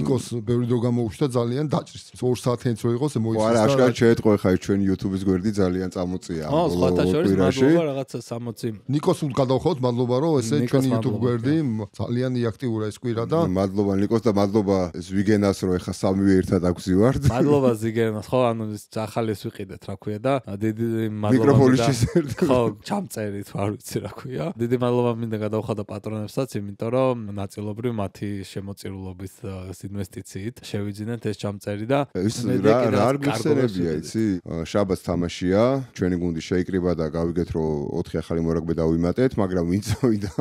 Speaker 3: ნიკოს ბევრი დრო გამოუჩნდა ძალიან დაჭრის. ორ საათიანიც რო იყოს მოიცეს.
Speaker 1: არა, აშკარად შეეტყო ხა ჩვენ YouTube-ის გვერდი ძალიან წამოწია.
Speaker 2: ხო, სხვათა შორის მადლობა რაღაცა სამოცი.
Speaker 3: ნიკოს უდგადავხოთ, მადლობა რომ ესე ჩვენი YouTube გვერდი ძალიან აქტიურია ეს კვირა და
Speaker 1: მადლობა ნიკოს და მადლობა ზვიგენას რომ ეხა სამივე ერთად აგვზივართ.
Speaker 2: მადლობა ზვიგენას. ხო, ანუ ახალეს ვიყიდეთ, რა ქვია და დიდი მადლობა.
Speaker 1: მიკროფონის შესერდ.
Speaker 2: ხო, ჩამწერით, არ ვიცი რა ქვია. დიდი მადლობა მინდა გადავხატო პატრონებსაც, იმიტომ რომ ნაწილობრივ მათი შემოწირულობის ინვესტიციით შევიძინეთ ეს ჩამწერი და
Speaker 1: რა რა არ გიხსენებია, იცი? შაბათს თამაშია, ჩვენი გუნდი შეიკრიბა და გავიგეთ რომ ოთხი ახალი მორაგბე დავიმატეთ, მაგრამ ვინც წავიდა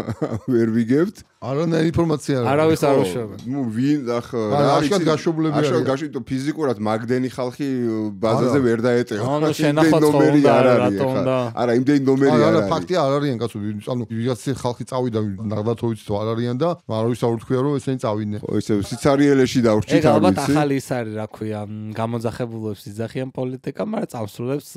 Speaker 1: ვერ ვიგებთ.
Speaker 3: არანაირი ინფორმაცია არ
Speaker 2: არავის არ უშვება.
Speaker 1: ნუ ვინ ახ
Speaker 3: რა არის გაშვებულები არის.
Speaker 1: აშკარად გაშვით ფიზიკურად მაგდენი ხალხი ბაზაზე ვერ დაეტევა.
Speaker 2: ანუ შენახოთ ნომერი არ არის ხა.
Speaker 1: არა, იმდენი ნომერი არ არის.
Speaker 3: არა, ფაქტია არ არიან კაცო. ანუ ვიღაცი ხალხი წავიდა ნაღდათოვიც თუ არ არიან და არავის არ უთქვია რომ ესენი წავიდნენ.
Speaker 1: ხო, ისე სიცარიელეში დავრჩით
Speaker 2: არ ვიცი. ეგ ალბათ ახალი ის არის, რა ქვია, გამოძახებულებს იძახიან პოლიტიკა, მაგრამ წამსრულებს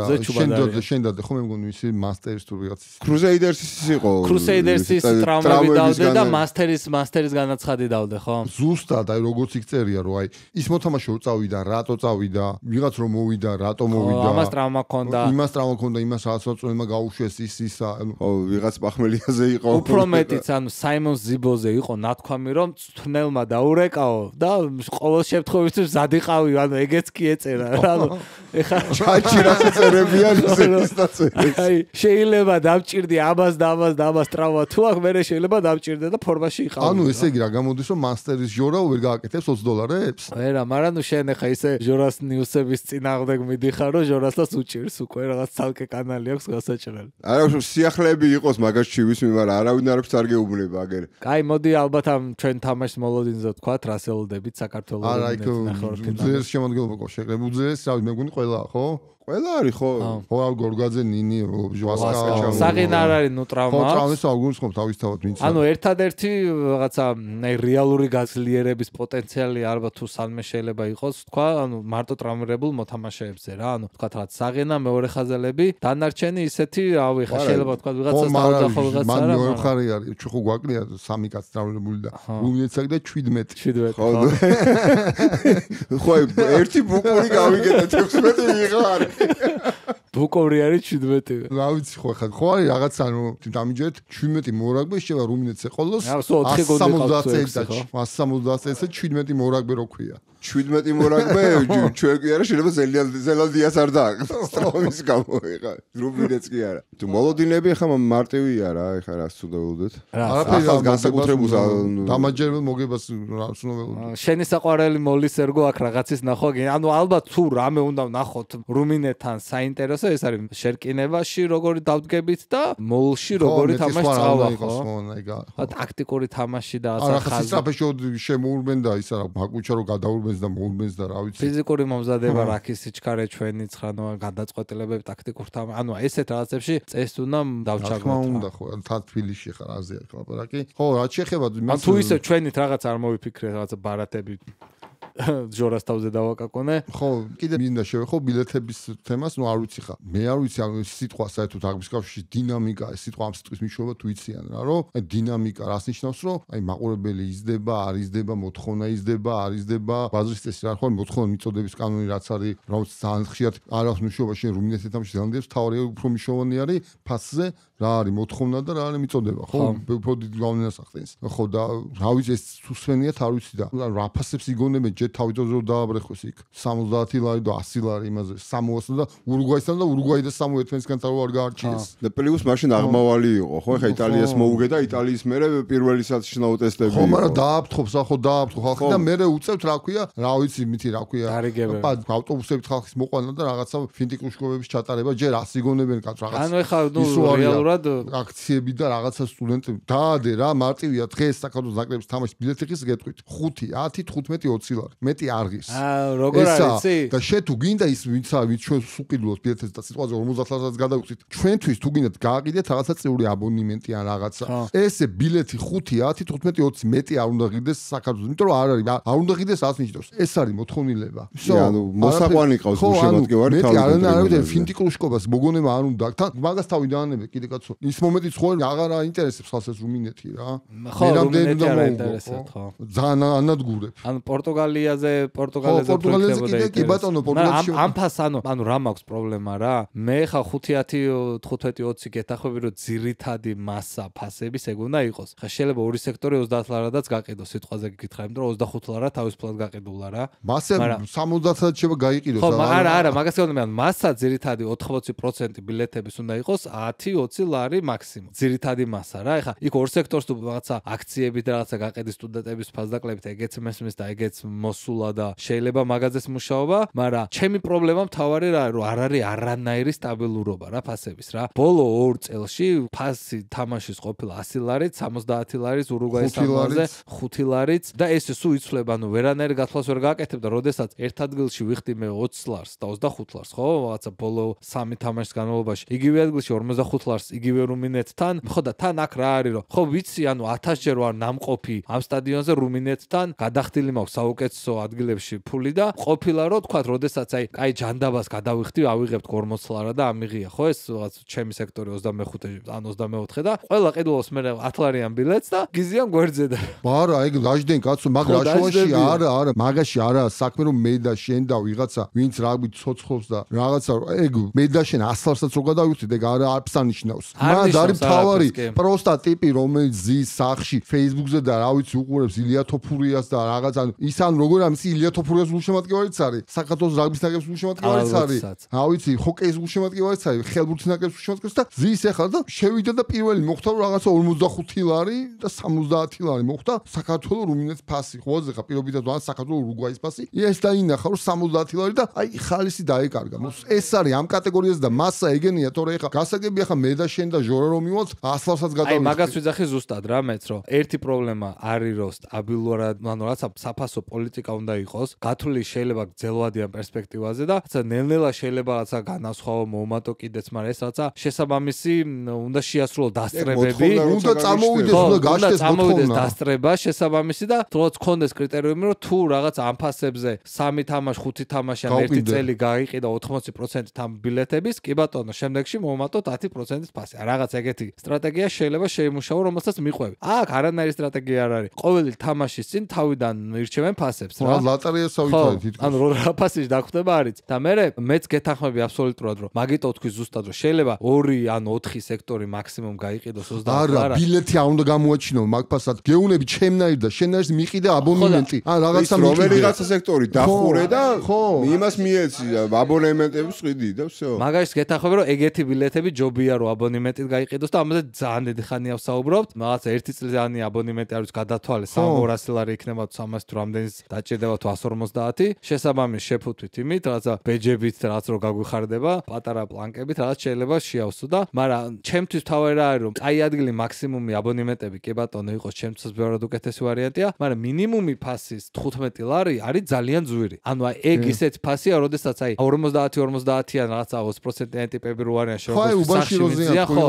Speaker 2: ზე ჩუბად არის.
Speaker 3: შენ შენ დადე, ხო მე მგონი ისი მასტერის თუ ვიღაც
Speaker 1: კრუსეიდერსის იყო.
Speaker 2: კრუსეიდერსის ტრამვები დავდე და მასტერის მასტერის განაცხადი დავდე, ხო?
Speaker 3: ზუსტად აი როგორც იქ წერია რომ აი ის მოთამაშე რო წავიდა, რატო წავიდა, ვიღაც რომ მოვიდა, რატო მოვიდა.
Speaker 2: ამას ტრავმა ჰქონდა.
Speaker 3: იმას ტრავმა ჰქონდა, იმას რაღაც მოწმემა გაუშვეს ის ისა.
Speaker 1: ხო, ვიღაც პახმელიაზე იყო.
Speaker 2: უფრო მეტიც ანუ საიმონ ზიბოზე იყო ნათქვამი რომ თვნელმა დაურეკაო და ყოველ შემთხვევაში ზადიყავი, ანუ ეგეც კი ეწერა რა. ანუ ეხა
Speaker 1: ჩაჭი რა წერებიან ისეც დაწერეს.
Speaker 2: აი შეიძლება დამჭირდი ამას და ამას და ამას ტრავმა თუ აქ მე შეიძლება დამჭირდე და ფორმაში იყავი.
Speaker 3: ანუ ესე იგი რა გამოდის რომ მასტერის ჟორა ვერ გააკეთებს ოცი დოლარებს?
Speaker 2: არა, მაგრამ ნუ შენ ახლა ისე ჟორას ნიუსების წინააღმდეგ მიდიხარ რომ ჟორასას უჭირს უკვე რაღაც ცალკე კანალი აქვს გასაჭრელი.
Speaker 1: არა, სიახლეები იყოს მაგას ჩივის მე, მაგრამ არავინ არ აქვს არ გეუბნება აგერ.
Speaker 2: კაი, მოდი ალბათ ამ ჩვენ თამაშს მოლოდინზე ვთქვათ, რასელოდებით საქართველოს
Speaker 3: ნახევარფინალში. უძეს შემოდგენობა ყო შეკრებ უძეს, რავი, მე მგონი ყველა, ხო? ყველა არის ხო?
Speaker 1: ხო,
Speaker 3: გორგაძე, ნინი, ჟვასკა.
Speaker 2: საღინ არ არის ნუ ტრავმა.
Speaker 3: ხო, ტრავმის აღგუნს ხომ თავისთავად ვინც.
Speaker 2: ანუ ერთადერთი რაღაცა რეალური გაძლიერების პოტენციალი ალბათ თუ სამე შეიძლება იყოს, თქვა, ანუ მარტო ტრავმირებულ მოთამაშეებზე რა, ანუ თქვა რაღაც საღენა, მეორე ხაზელები, დანარჩენი ისეთი, რავი, ხა შეიძლება თქვა ვიღაცა დაუძახო ვიღაცა რა.
Speaker 3: მან მეორე ხარი არის, ჩუხუ გვაკლია სამი კაცი ტრავმირებული და რუმინეცაკ და შვიდმეტი.
Speaker 2: შვიდმეტი.
Speaker 1: ხო. ხო, ერთი ბუკური გავიგეთ ექვსმეტი ვიღარ.
Speaker 2: ბუკორი არის შვიდმეტი.
Speaker 3: რა ვიცი ხო ხა ხო არის რაღაც ანუ დამიჯერეთ შვიდმეტი მორაგბე შევა რუმინეთზე ყოლოს
Speaker 2: ასი
Speaker 3: სამოცდაათი შვიდმეტი მორაგბე რო ქვია.
Speaker 1: შვიდმეტი მორაგბე ჩვენ კი არა შეიძლება ზელანდიას არ დააკეთოს ტრომის გამო ეხა რუმინეთს კი არა. თუ მოლოდინები ხა მარტივია რა ეხა რას ცუდაულდეთ.
Speaker 3: არაფერი
Speaker 1: ახალ განსაკუთრებულს
Speaker 3: დამაჯერებელ მოგებას რას უნდაველოდ.
Speaker 2: შენი საყვარელი მოლის ერგო აქ რაღაცის ნახვა. ანუ ალბათ თუ რამე უნდა ვნახოთ რუმინეთთან საინტერესო ეს არის შერკინებაში როგორი დავდგებით და მოლში როგორი თამაში წავა ხო? ხო, ტაქტიკური თამაში და
Speaker 3: რაღაცა ხაზი. არა, ხასტრაფეშოდ შემოურბენ და ისა რა ბაკუჩა რო გადაურბენს და მოურბენს და რა ვიცი.
Speaker 2: ფიზიკური მომზადება რაქის სიჩქარე ჩვენი ხრანო გადაწყვეტილებები ტაქტიკურ თამაში. ანუ ესეთ რაღაცებში წეს უნდა დავჩაგდოთ.
Speaker 3: რა უნდა ხო, თან თბილისში ხარ აზია ლაპარაკი. ხო, რა შეეხება
Speaker 2: მან თუ ისე ჩვენით რაღაც არ მოვიფიქრე რაღაცა ბარათები ჯორას თავზე დავაკაკონე.
Speaker 3: ხო, კიდე მინდა შევეხო ბილეთების თემას, ნუ არ ვიცი ხა. მე არ ვიცი ამ სიტყვა საერთოდ აღების კავშირში დინამიკა, ეს სიტყვა ამ სიტყვის მნიშვნელობა თუ იციან რა, რომ აი დინამიკა რას ნიშნავს, რომ აი მაყურებელი იზრდება, არ იზრდება, მოთხოვნა იზრდება, არ იზრდება, ბაზრის წესი რა ხო, მოთხოვნა მიწოდების კანონი რაც არის, რომელიც ძალიან ხშირად არ აქვს მნიშვნელობა შენ რუმინეთთან თამაში ზანდებს, თავი უფრო მნიშვნელოვანი არის ფასზე რა არის მოთხოვნა და რა არის მიწოდება, ხო? უფრო დიდი გავლენას ახდენს. ხო და რა ვიცი ეს სუსვენიათ არ ვიცი და რა ფასებს იგონებენ ჯერ თავიდანვე რომ დააბრეხვეს იქ სამოცდაათი ლარი და ასი ლარი იმაზე სამოასთან და ურუგვაისთან და ურუგვაი და სამო ერთმანეთისგან თავ არ გაარჩიეს.
Speaker 1: და პლუს მაშინ აღმავალი იყო, ხო? ეხა იტალიას მოუგე და იტალიის მერე პირველი სათიშნაო ტესტები იყო.
Speaker 3: ხო, მაგრამ დააფრთხობს, ხო, დააფრთხო ხალხი და მერე უწევთ რა ქვია, რა ვიცი, მითი რა ქვია. ავტობუსებით ხალხის მოყვანა და რაღაცა ფინტიკუშკოვების ჩატარება ჯერ ასი გონებენ კაც რაღაც.
Speaker 2: ანუ ეხა ნუ რეალურად
Speaker 3: აქციები და რაღაცა სტუდენტები დაადე რა მარტივია დღეს საქართველოს ნაკრების თამაშის ბილეთი ხის გეტყვით ხუთი, ათი, თხუთმეტი, ოცი ლარი. მეტი არ ღირს.
Speaker 2: აა როგორ არის იცი?
Speaker 3: და შე თუ გინდა ის ვინც ვინც ჩვენ სუყიდულოს ბილეთებს და სიტყვაზე ორმოცდაათ ლარსაც გადავიხდით. ჩვენთვის თუ გინდათ გააყიდეთ რაღაცა წიური აბონემენტი ან რაღაცა. ესე ბილეთი ხუთი, ათი, თხუთმეტი, ოცი მეტი არ უნდა ღირდეს საქართველოს. იმიტომ რომ არ არის, არ უნდა ღირდეს ას ნიშნავს. ეს არის მოთხოვნილება.
Speaker 1: ანუ მოსაყვანი ყავს გულშემატკივარი
Speaker 3: თავი. მეტი არ არის ფინტიკუშკობას მოგონება არ უნდა. თან მაგას თავი დაანებე კიდე კაცო. ის მომენტიც ხო აღარ აინტერესებს ხალხს ეს რუმინეთი რა.
Speaker 2: ხო, რუმინეთი არ აინტერესებს ხო.
Speaker 3: ძალიან ანადგურებ.
Speaker 2: ანუ პორტუგალიაზე, პორტუგალიაზე
Speaker 3: პროექტებოდა. კი ბატონო, პორტუგალიაში.
Speaker 2: ამ ფას ანუ ანუ რა მაქვს პრობლემა რა? მე ხა ხუთი, ათი, თხუთმეტი, ოცი გეთახვები რომ ძირითადი მასა ფასების ეგ უნდა იყოს. ხა შეიძლება ორი სექტორი ოცდაათ ლარადაც გაყიდოს სიტყვაზე გიკითხა, იმიტომ რომ ოცდახუთ ლარა თავისუფლად გაყიდულა რა.
Speaker 3: მასა სამოცდაათად შევა გაიყიდოს
Speaker 2: რა. ხო, არა, არა, მაგას გეუბნები, ანუ მასა ძირითადი ოთხმოცი პროცენტი ბილეთების უნდა იყოს ათი, ოცი ლარი მაქსიმუმ. ძირითადი მასა რა. ეხა იქ ორ სექტორს თუ რაღაცა აქციები და რაღაცა გაყიდის სტუდენტების ფასდაკლებით ეგეც მესმის და ეგეც მოსულა და შეიძლება მაგაზეს მუშაობა, მაგრამ ჩემი პრობლემა მთავარი რა რომ არ არის არანაირი სტაბილურობა რა ფასების რა. ბოლო ორ წელში ფასი თამაშის ყოფილა ასი ლარით, სამოცდაათი ლარით ურუგვაის თამაშზე, ხუთი ლარით და ესე სულ იცვლება, ანუ ვერანაირი გათვლას ვერ გააკეთებ და როდესაც ერთ ადგილში ვიხდი მე ოცი ლარს და ოცდახუთ ლარს, ხო? რაღაცა ბოლო სამი თამაშის განმავლობაში. იგივე ადგილში ორმოცდახუთ ლარს იგივე რუმინეთთან, ხო და თან აქ რა არის რომ ხო ვიცი, ანუ ათასჯერ ვარ ნამყოფი ამ სტადიონზე რუმინეთთან, გადახდილი მაქვს საუკეთესო ადგილებში ფული და ყოფილა რომ თქვა, როდესაც აი კაი ჯანდაბას გადავიხდი, ავიღებთ ორმოცი ლარა და ამიღია, ხო ეს რაღაც ჩემი სექტორი ოცდამეხუთე ან ოცდამეოთხე და ყველა ყიდულობს მე ათ ლარიან ბილეთს და გიზიან გვერდზე და
Speaker 3: არა, ეგ დაждენ კაცო, მაგრამ შუაში არა, არა, მაგაში არა საქმე რომ მე და შენ და ვიღაცა ვინც რაგვით ცოცხლობს და რაღაცა ეგ მე და შენ ას ლარსაც რო გადავიხდით, ეგ არა არც ანიშნავს. მან არის თავარი პროსტა ტიპი რომელიც ზის სახში Facebook-ზე და რა ვიცი უყურებს ილია თოფურიას და რაღაც ან ის ან როგორ ამის ილია თოფურიას გულშემატკივარიც არის საქართველოს რაგბის ნაკრების გულშემატკივარიც არის რა ვიცი ჰოკეის გულშემატკივარიც არის ხელბურთის ნაკრების გულშემატკივარიც და ზის ახლა და შევიდა და პირველი მოხდა რაღაცა ორმოცდახუთი ლარი და სამოცდაათი ლარი მოხდა საქართველოს რუმინეთის ფასი ხოზე ხა პირობითად ვან საქართველოს ურუგვაის ფასი ეს დაინახა რომ სამოცდაათი ლარი და აი ხალისი დაეკარგა ეს არის ამ კატეგორიაზე და მასა ეგენია თორე ახლა გასაგები ახლა მე და შენ და ჟორა რომ მივალთ ას ლარსაც გადავიხდი
Speaker 2: აი მაგას ვიძახი ზუსტად რა მეც რომ ერთი პრობლემა არის რომ სტაბილურად ანუ რაცა საფასო პოლიტიკა უნდა იყოს გათვლილი შეიძლება გძელვადიან პერსპექტივაზე და რაცა ნელ-ნელა შეიძლება რაცა განასხვავო მომატო კიდეც მაგრამ ეს რაცა შესაბამისი უნდა შეასრულო დასწრებები
Speaker 3: უნდა წამოვიდეს უნდა გაშდეს
Speaker 2: მოთხოვნა დასწრება შესაბამისი და თუნდაც კონდეს კრიტერიუმი რომ თუ რაღაც ამ ფასებზე სამი თამაში ხუთი თამაში ან ერთი წელი გაიყიდა ოთხმოცი პროცენტი თამ ბილეთების კი ბატონო შემდეგში მომატოთ ათი პროცენტის ფასი რაღაც ეგეთი სტრატეგია შეიძლება შეიმუშაო რომელსაც მიყვები აქ არანაირი სტრატეგია არ არის ყოველი თამაშის წინ თავიდან ირჩევენ ფასებს რა
Speaker 3: ლატარიასავითარი თითქოს
Speaker 2: ანუ რა ფასი დაგვხდება არის და მე მეც გეთანხმები აბსოლუტურად რომ მაგიტო თქვი ზუსტად რომ შეიძლება ორი ან ოთხი სექტორი მაქსიმუმ გაიყიდოს ოცდაათი
Speaker 3: არა ბილეთი არ უნდა გამოაჩინო მაგ ფასად გეუნები ჩემნაირ და შენაირს მიყიდა აბონემენტი ან რაღაცა
Speaker 1: მიყიდა რაღაცა სექტორი დახურე და იმას მიეცი აბონემენტებს ყიდი და всё
Speaker 2: მაგას გეთანხმები რომ ეგეთი ბილეთები ჯობია რომ აბონემენტით გაიყიდოს და ამაზე ძალიან დიდი ხანია ვსაუბრობთ რაღაცა ერთი წლიანი აბონემენტი არის გადათვალე სამორასი ლარი იქნება თუ სამასი თუ რამდენის დაჭირდება თუ ასი ორმოცდაათი შესაბამის შეფუთვით იმით რაღაცა ბეჯებით რაღაც რო გაგვიხარდება პატარა პლანკებით რაღაც შეიძლება შეავსო და მაგრამ ჩემთვის თავი რა არის რომ აი ადგილი მაქსიმუმი აბონემენტები კი ბატონო იყოს ჩემთვის ბევრად უკეთესი ვარიანტია მაგრამ მინიმუმი ფასის თხუთმეტი ლარი არის ძალიან ძვირი ანუ აი ეგ ისეთ ფასია როდესაც აი ორმოცდაათი ორმოცდაათიან რაღაცა ოცი პროცენტიანი ტიპები რო არიან
Speaker 3: შეგვიძლია ხო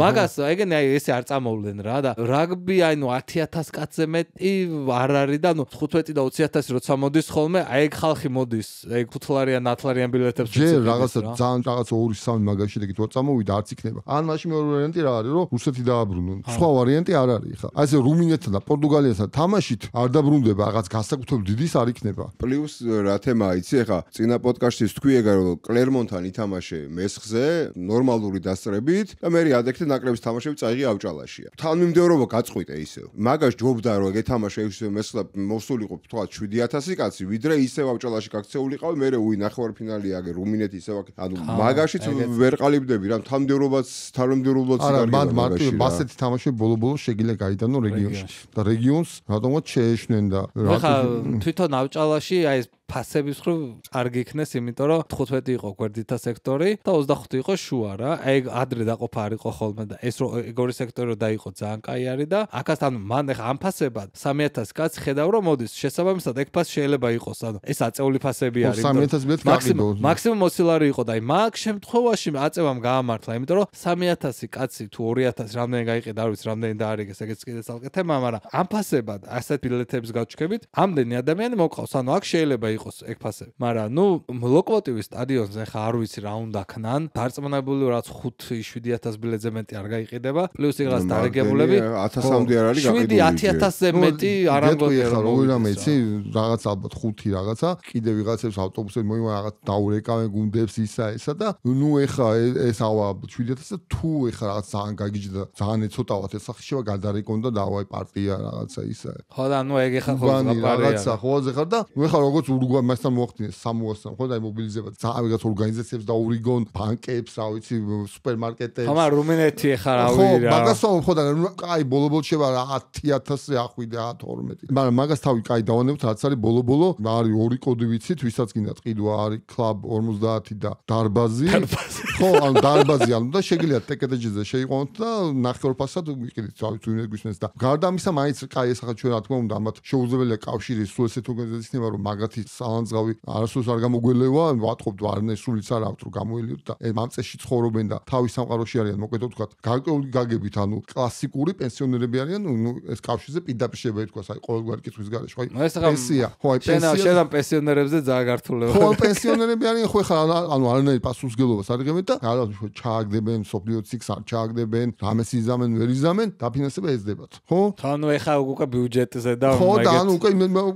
Speaker 2: მაგას ეგენი აი ესე არ წამოვლენ რა და რაგბი აი ნუ ათი ათას კაცზე მეტი არ არის და ნუ თხუთმეტი და ოცი ათასი როცა მოდის ხოლმე, აი ეგ ხალხი მოდის, ეგ ფუთლარიან, ათლარიან ბილეთებს
Speaker 3: ჯერ რაღაცა ძალიან რაღაცა ორი სამი მაგაში და გითხრა წამოვიდა არც იქნება. ან მაშინ მეორე ვარიანტი რა არის, რომ რუსეთი დააბრუნონ. სხვა ვარიანტი არ არის ხა. აი ესე რუმინეთთან და პორტუგალიასთან თამაშით არ დაბრუნდება, რაღაც განსაკუთრებული დიდის არ იქნება.
Speaker 1: პლუს რა თემაა, იცი ხა, წინა პოდკასტში თქვი ეგ რომ კლერმონთან ითამაშე მესხზე, ნორმალური დასწრებით და მე ადექთე ნაკრების თამაშები წაიღი ავჭალაშია. თანმიმდევრობა გაწყვიტე ისევ. მაგას ჯობდა რომ გეთამაშე ისევ მესხლა მოსულიყო თქვა შვიდი ათასი კაცი, ვიდრე ისევ ავჭალაში გაქცეულიყავი, მე უი ნახევარფინალი აგე რუმინეთი ისევ აქ. ანუ მაგაშიც ვერ ყალიბდები რა, თანმიმდევრობაც თანმიმდევრობაც
Speaker 3: არა, მან მარტო ბასეთი თამაშები ბოლო-ბოლო შეგიძლია გაიტანო რეგიონში და რეგიონს რატომაც შეეშნენ და
Speaker 2: ხა თვითონ ავჭალაში აი ეს ფასების ხრო კარგი იქნეს, იმიტომ რომ თხუთმეტი იყო გვერდითა სექტორი და ოცდახუთი იყო შუა რა. აი ადრე დაყოფა არ იყო ხოლმე და ეს რო ეგორი სექტორი რო დაიყო ძალიან კაი არის და აქასთან მან ხა ამ ფასებად სამი ათასი კაცი ხედავ რომ მოდის შესაბამისად ეგ ფასი შეიძლება იყოს, ანუ ეს აწეული ფასები არის.
Speaker 3: სამი ათასი ბილეთი გაყიდო.
Speaker 2: მაქსიმუმ ოცილარი იყო და აი მაგ შემთხვევაში აწევამ გაამართლა, იმიტომ რომ სამი ათასი კაცი თუ ორი ათასი რამდენი გაიყიდა არ ვიცი, რამდენი დაარიგეს, ეგეც კიდე ცალკე თემა, მაგრამ ამ ფასებად ასეთ ბილეთებს გავჩქებით, ამდენი ადამიანი მოყავს, ანუ აქ შეიძლება იყოს ეგ ფასები. მაგრამ ნუ ლოკომოტივის სტადიონზე ხა არ ვიცი რა უნდა ქნან. დარწმუნებული რაც ხუთი შვიდი ათასი ბილეთზე მეტი არ გაიყიდება. პლუს იღაც დარეგებულები
Speaker 1: ათასამდე არ არის გაყიდული.
Speaker 2: შვიდი ათი ათასზე მეტი არ ამგონია
Speaker 3: რომ ოირამე იცი რაღაც ალბათ ხუთი რაღაცა. კიდე ვიღაცებს ავტობუსები მოივა რაღაც დაურეკავენ გუნდებს ისა ესა და ნუ ეხა ეს ავა შვიდი ათასი და თუ ეხა რაღაც ძალიან გაგიჯდა ძალიან ეცოტავად ეს სახში შევა გადარეკონ და დავაი პარტია რაღაცა ისა.
Speaker 2: ხო და ნუ ეგ ეხა ხო
Speaker 3: რაღაცა ხოაზე ხარ და ნუ ეხა როგორც ურუგვაი მასთან მოახდინეს სამოასთან ხო და აი მობილიზება ძალიან ვიღაც ორგანიზაციებს დაურიგონ ბანკებს რა ვიცი სუპერმარკეტებს.
Speaker 2: ხომ რუმინეთი ეხა რა ვირი რა.
Speaker 3: ხო მაგასო ხო და აი ბოლო-ბოლო შევა ათი ათასი ახვიდე ათორმეტი. მაგრამ მაგას თავი კაი დავანებთ რაც არის ბოლო-ბოლო არის ორი კოდი ვიცით ვისაც გინდა ყიდვა არის კლუბ ორმოცდაათი და დარბაზი. ხო ანუ დარბაზი ანუ და შეგიძლიათ ტეკეტეჯზე შეიყვანოთ და ნახევარფასად ვიყიდით რა ვიცი ვინმე გვისმენს და გარდა ამისა მაინც კაი ეს ახლა ჩვენ რა თქმა უნდა ამათ შეუძლებელია კავშირის სულ ესეთ ორგანიზაციას ნება რომ მაგათი სალანძღავი არასდროს არ გამოგველევა ვატყობთ ვარნე სულიც არ აქვს რომ გამოელიოთ და ამ წესში ცხოვრობენ და თავის სამყაროში არიან მოკეთო თქვა გარკვეული გაგებით ანუ კლასიკური პენსიონერები არიან ნუ ეს კავშირზე პირდაპირ შეიძლება ითქვას აი ყოველგვარი კითხვის გარეშე ხო აი პენსია ხო აი
Speaker 2: პენსია შენ ამ პენსიონერებზე ძალიან გართულება
Speaker 3: ხო პენსიონერები არიან ხო ხა ანუ არანაირი პასუხისგებლობას არ იღებენ და რაღაც ჩააგდებენ სოფლიო ციკს არ ჩააგდებენ რამეს იზამენ ვერ იზამენ დაფინანსება ეძებათ ხო
Speaker 2: ანუ ეხა უკვე ბიუჯეტზე და
Speaker 3: ხო და ანუ უკვე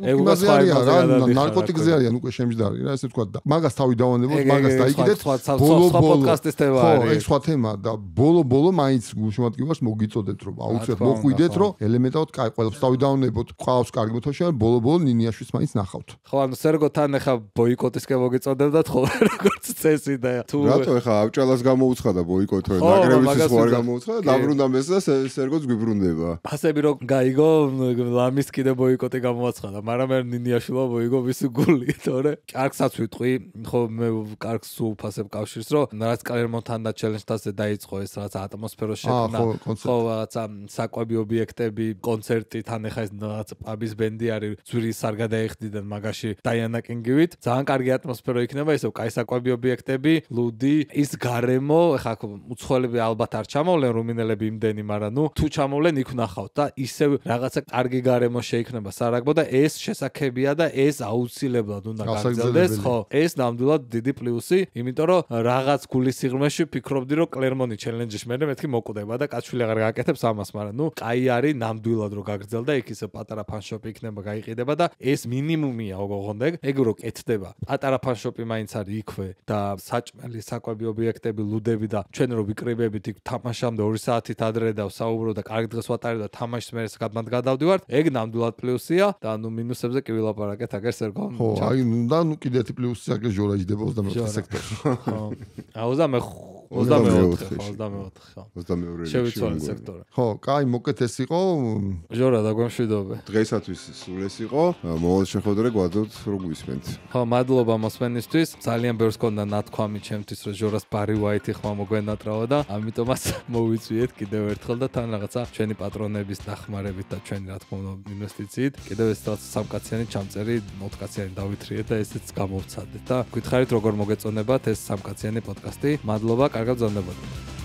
Speaker 3: იმაზე არიან რა ნარკოტიკზე არიან უკვე შემჯდარი რა ესე თქვა და მაგას თავი დავანებოთ მაგას დაიკიდეთ
Speaker 2: ბოლო-ბოლო პოდკასტის თემა არის
Speaker 3: ხო ეს სხვა თემა და ბოლო-ბოლო მაინც გულშემატკივარს მოგიწოდეთ რომ აუცილებლად მოხვიდეთ რომ ელემენტარულად კაი ყველაფერს თავი დავანებოთ ყავს კარგი მოთხოვნა ბოლო-ბოლო ნინიაშვით მაინც ნახავთ
Speaker 2: ხო ანუ სერგოთან ეხა ბოიკოტისკენ მოგიწოდებდათ ხო როგორც წესი და თუ
Speaker 1: რატო ეხა ავჭალას გამოუცხადა ბოიკოტო ნაკრების ხო არ გამოუცხადა დაბრუნდა მეს და სერგოც გვიბრუნდება
Speaker 2: ფასები რო გაიგო ლამის კიდე ბოიკოტი გამოაცხადა მაგრამ მე ნინიაშვილო ბოიკო ვის გული თორე კარგსაც ვიტყვი ხო მე კარგს უფასებ კავშირს რომ რაც კლერმონთან და ჩელენჯთაზე დაიწყო ეს რაც ატმოსფეროს შექმნა ხო რაღაცა საკვები ობიექტები კონცერტი თან ეხა ეს რაღაც პაბის ბენდი არის ძვირის არ გადაიხდიდან მაგაში დაიანა კინგივით ძალიან კარგი ატმოსფერო იქნება ისევ კაი საკვები ობიექტები ლუდი ის გარემო ეხა უცხოელები ალბათ არ ჩამოვლენ რუმინელები იმდენი მაგრამ ნუ თუ ჩამოვლენ იქ ვნახავთ და ისევ რაღაცა კარგი გარემო შეიქმნება სარაგბო და ეს შესაძლებელია და ეს აუცილებლად უნდა გაგრძელდეს ხო ეს ნამდვილად დიდი პლუსი იმიტომ რომ რაღაც გულის სიღრმეში ფიქრობდი რომ კლერმონი ჩელენჯში მე მეთქი მოკვდება და კაცვილი აღარ გააკეთებს ამას მაგრამ ნუ კაი არის ნამდვილად რომ გაგრძელდა იქ ისე პატარა ფანშოპი იქნება გაიყიდება და ეს მინიმუმია ოღონდ ეგ რო კეთდება პატარა ფანშოპი მაინც არის იქვე და საჭმელი საკვები ობიექტები ლუდები და ჩვენ რო ვიკრიბებით იქ თამაშამდე ორი საათით ადრე და საუბრო და კარგი დღეს ვატარებ და თამაშს მე გადმად გადავდივარ ეგ ნამდვილად პლუსია და ნუ მინუსებზე კი ვილაპარაკეთ აგერ სერგომ
Speaker 3: ხო აი და ნუ კიდე ერთი პლუსი აგერ ჟორაჯდება ოცდამეოთხე სექტორში
Speaker 2: ხო ოცდამეოთხე ოცდამეოთხე ოცდამეოთხე ხო
Speaker 1: ოცდამეორე
Speaker 2: შევიცვალე სექტორი
Speaker 3: ხო კაი მოკეთ ეს იყო
Speaker 2: ჟორა და გვემშვიდობე
Speaker 1: დღეისათვის სულ ეს იყო მოვალ შეხვედრა გვადოთ რო გვისმენთ
Speaker 2: ხო მადლობა მოსმენისთვის ძალიან ბევრს გქონდა ნათქვამი ჩემთვის რომ ჟორას ბარი ვაიტი ხმა მოგვენატრავა და ამიტომაც მოვიწვიეთ კიდევ ერთხელ და თან რაღაცა ჩვენი პატრონების დახმარებით და ჩვენი რა თქმა უნდა ინვესტიციით კიდევ ეს რაღაც სამკაციანი ჩამწერი ოთხკაციანი დავითრიეთ და ესეც გამოვცადეთ და გითხარით როგორ მოგეწონებათ ეს სამკაციანი პოდკასტი მადლობა კარგად გრძნობოდეთ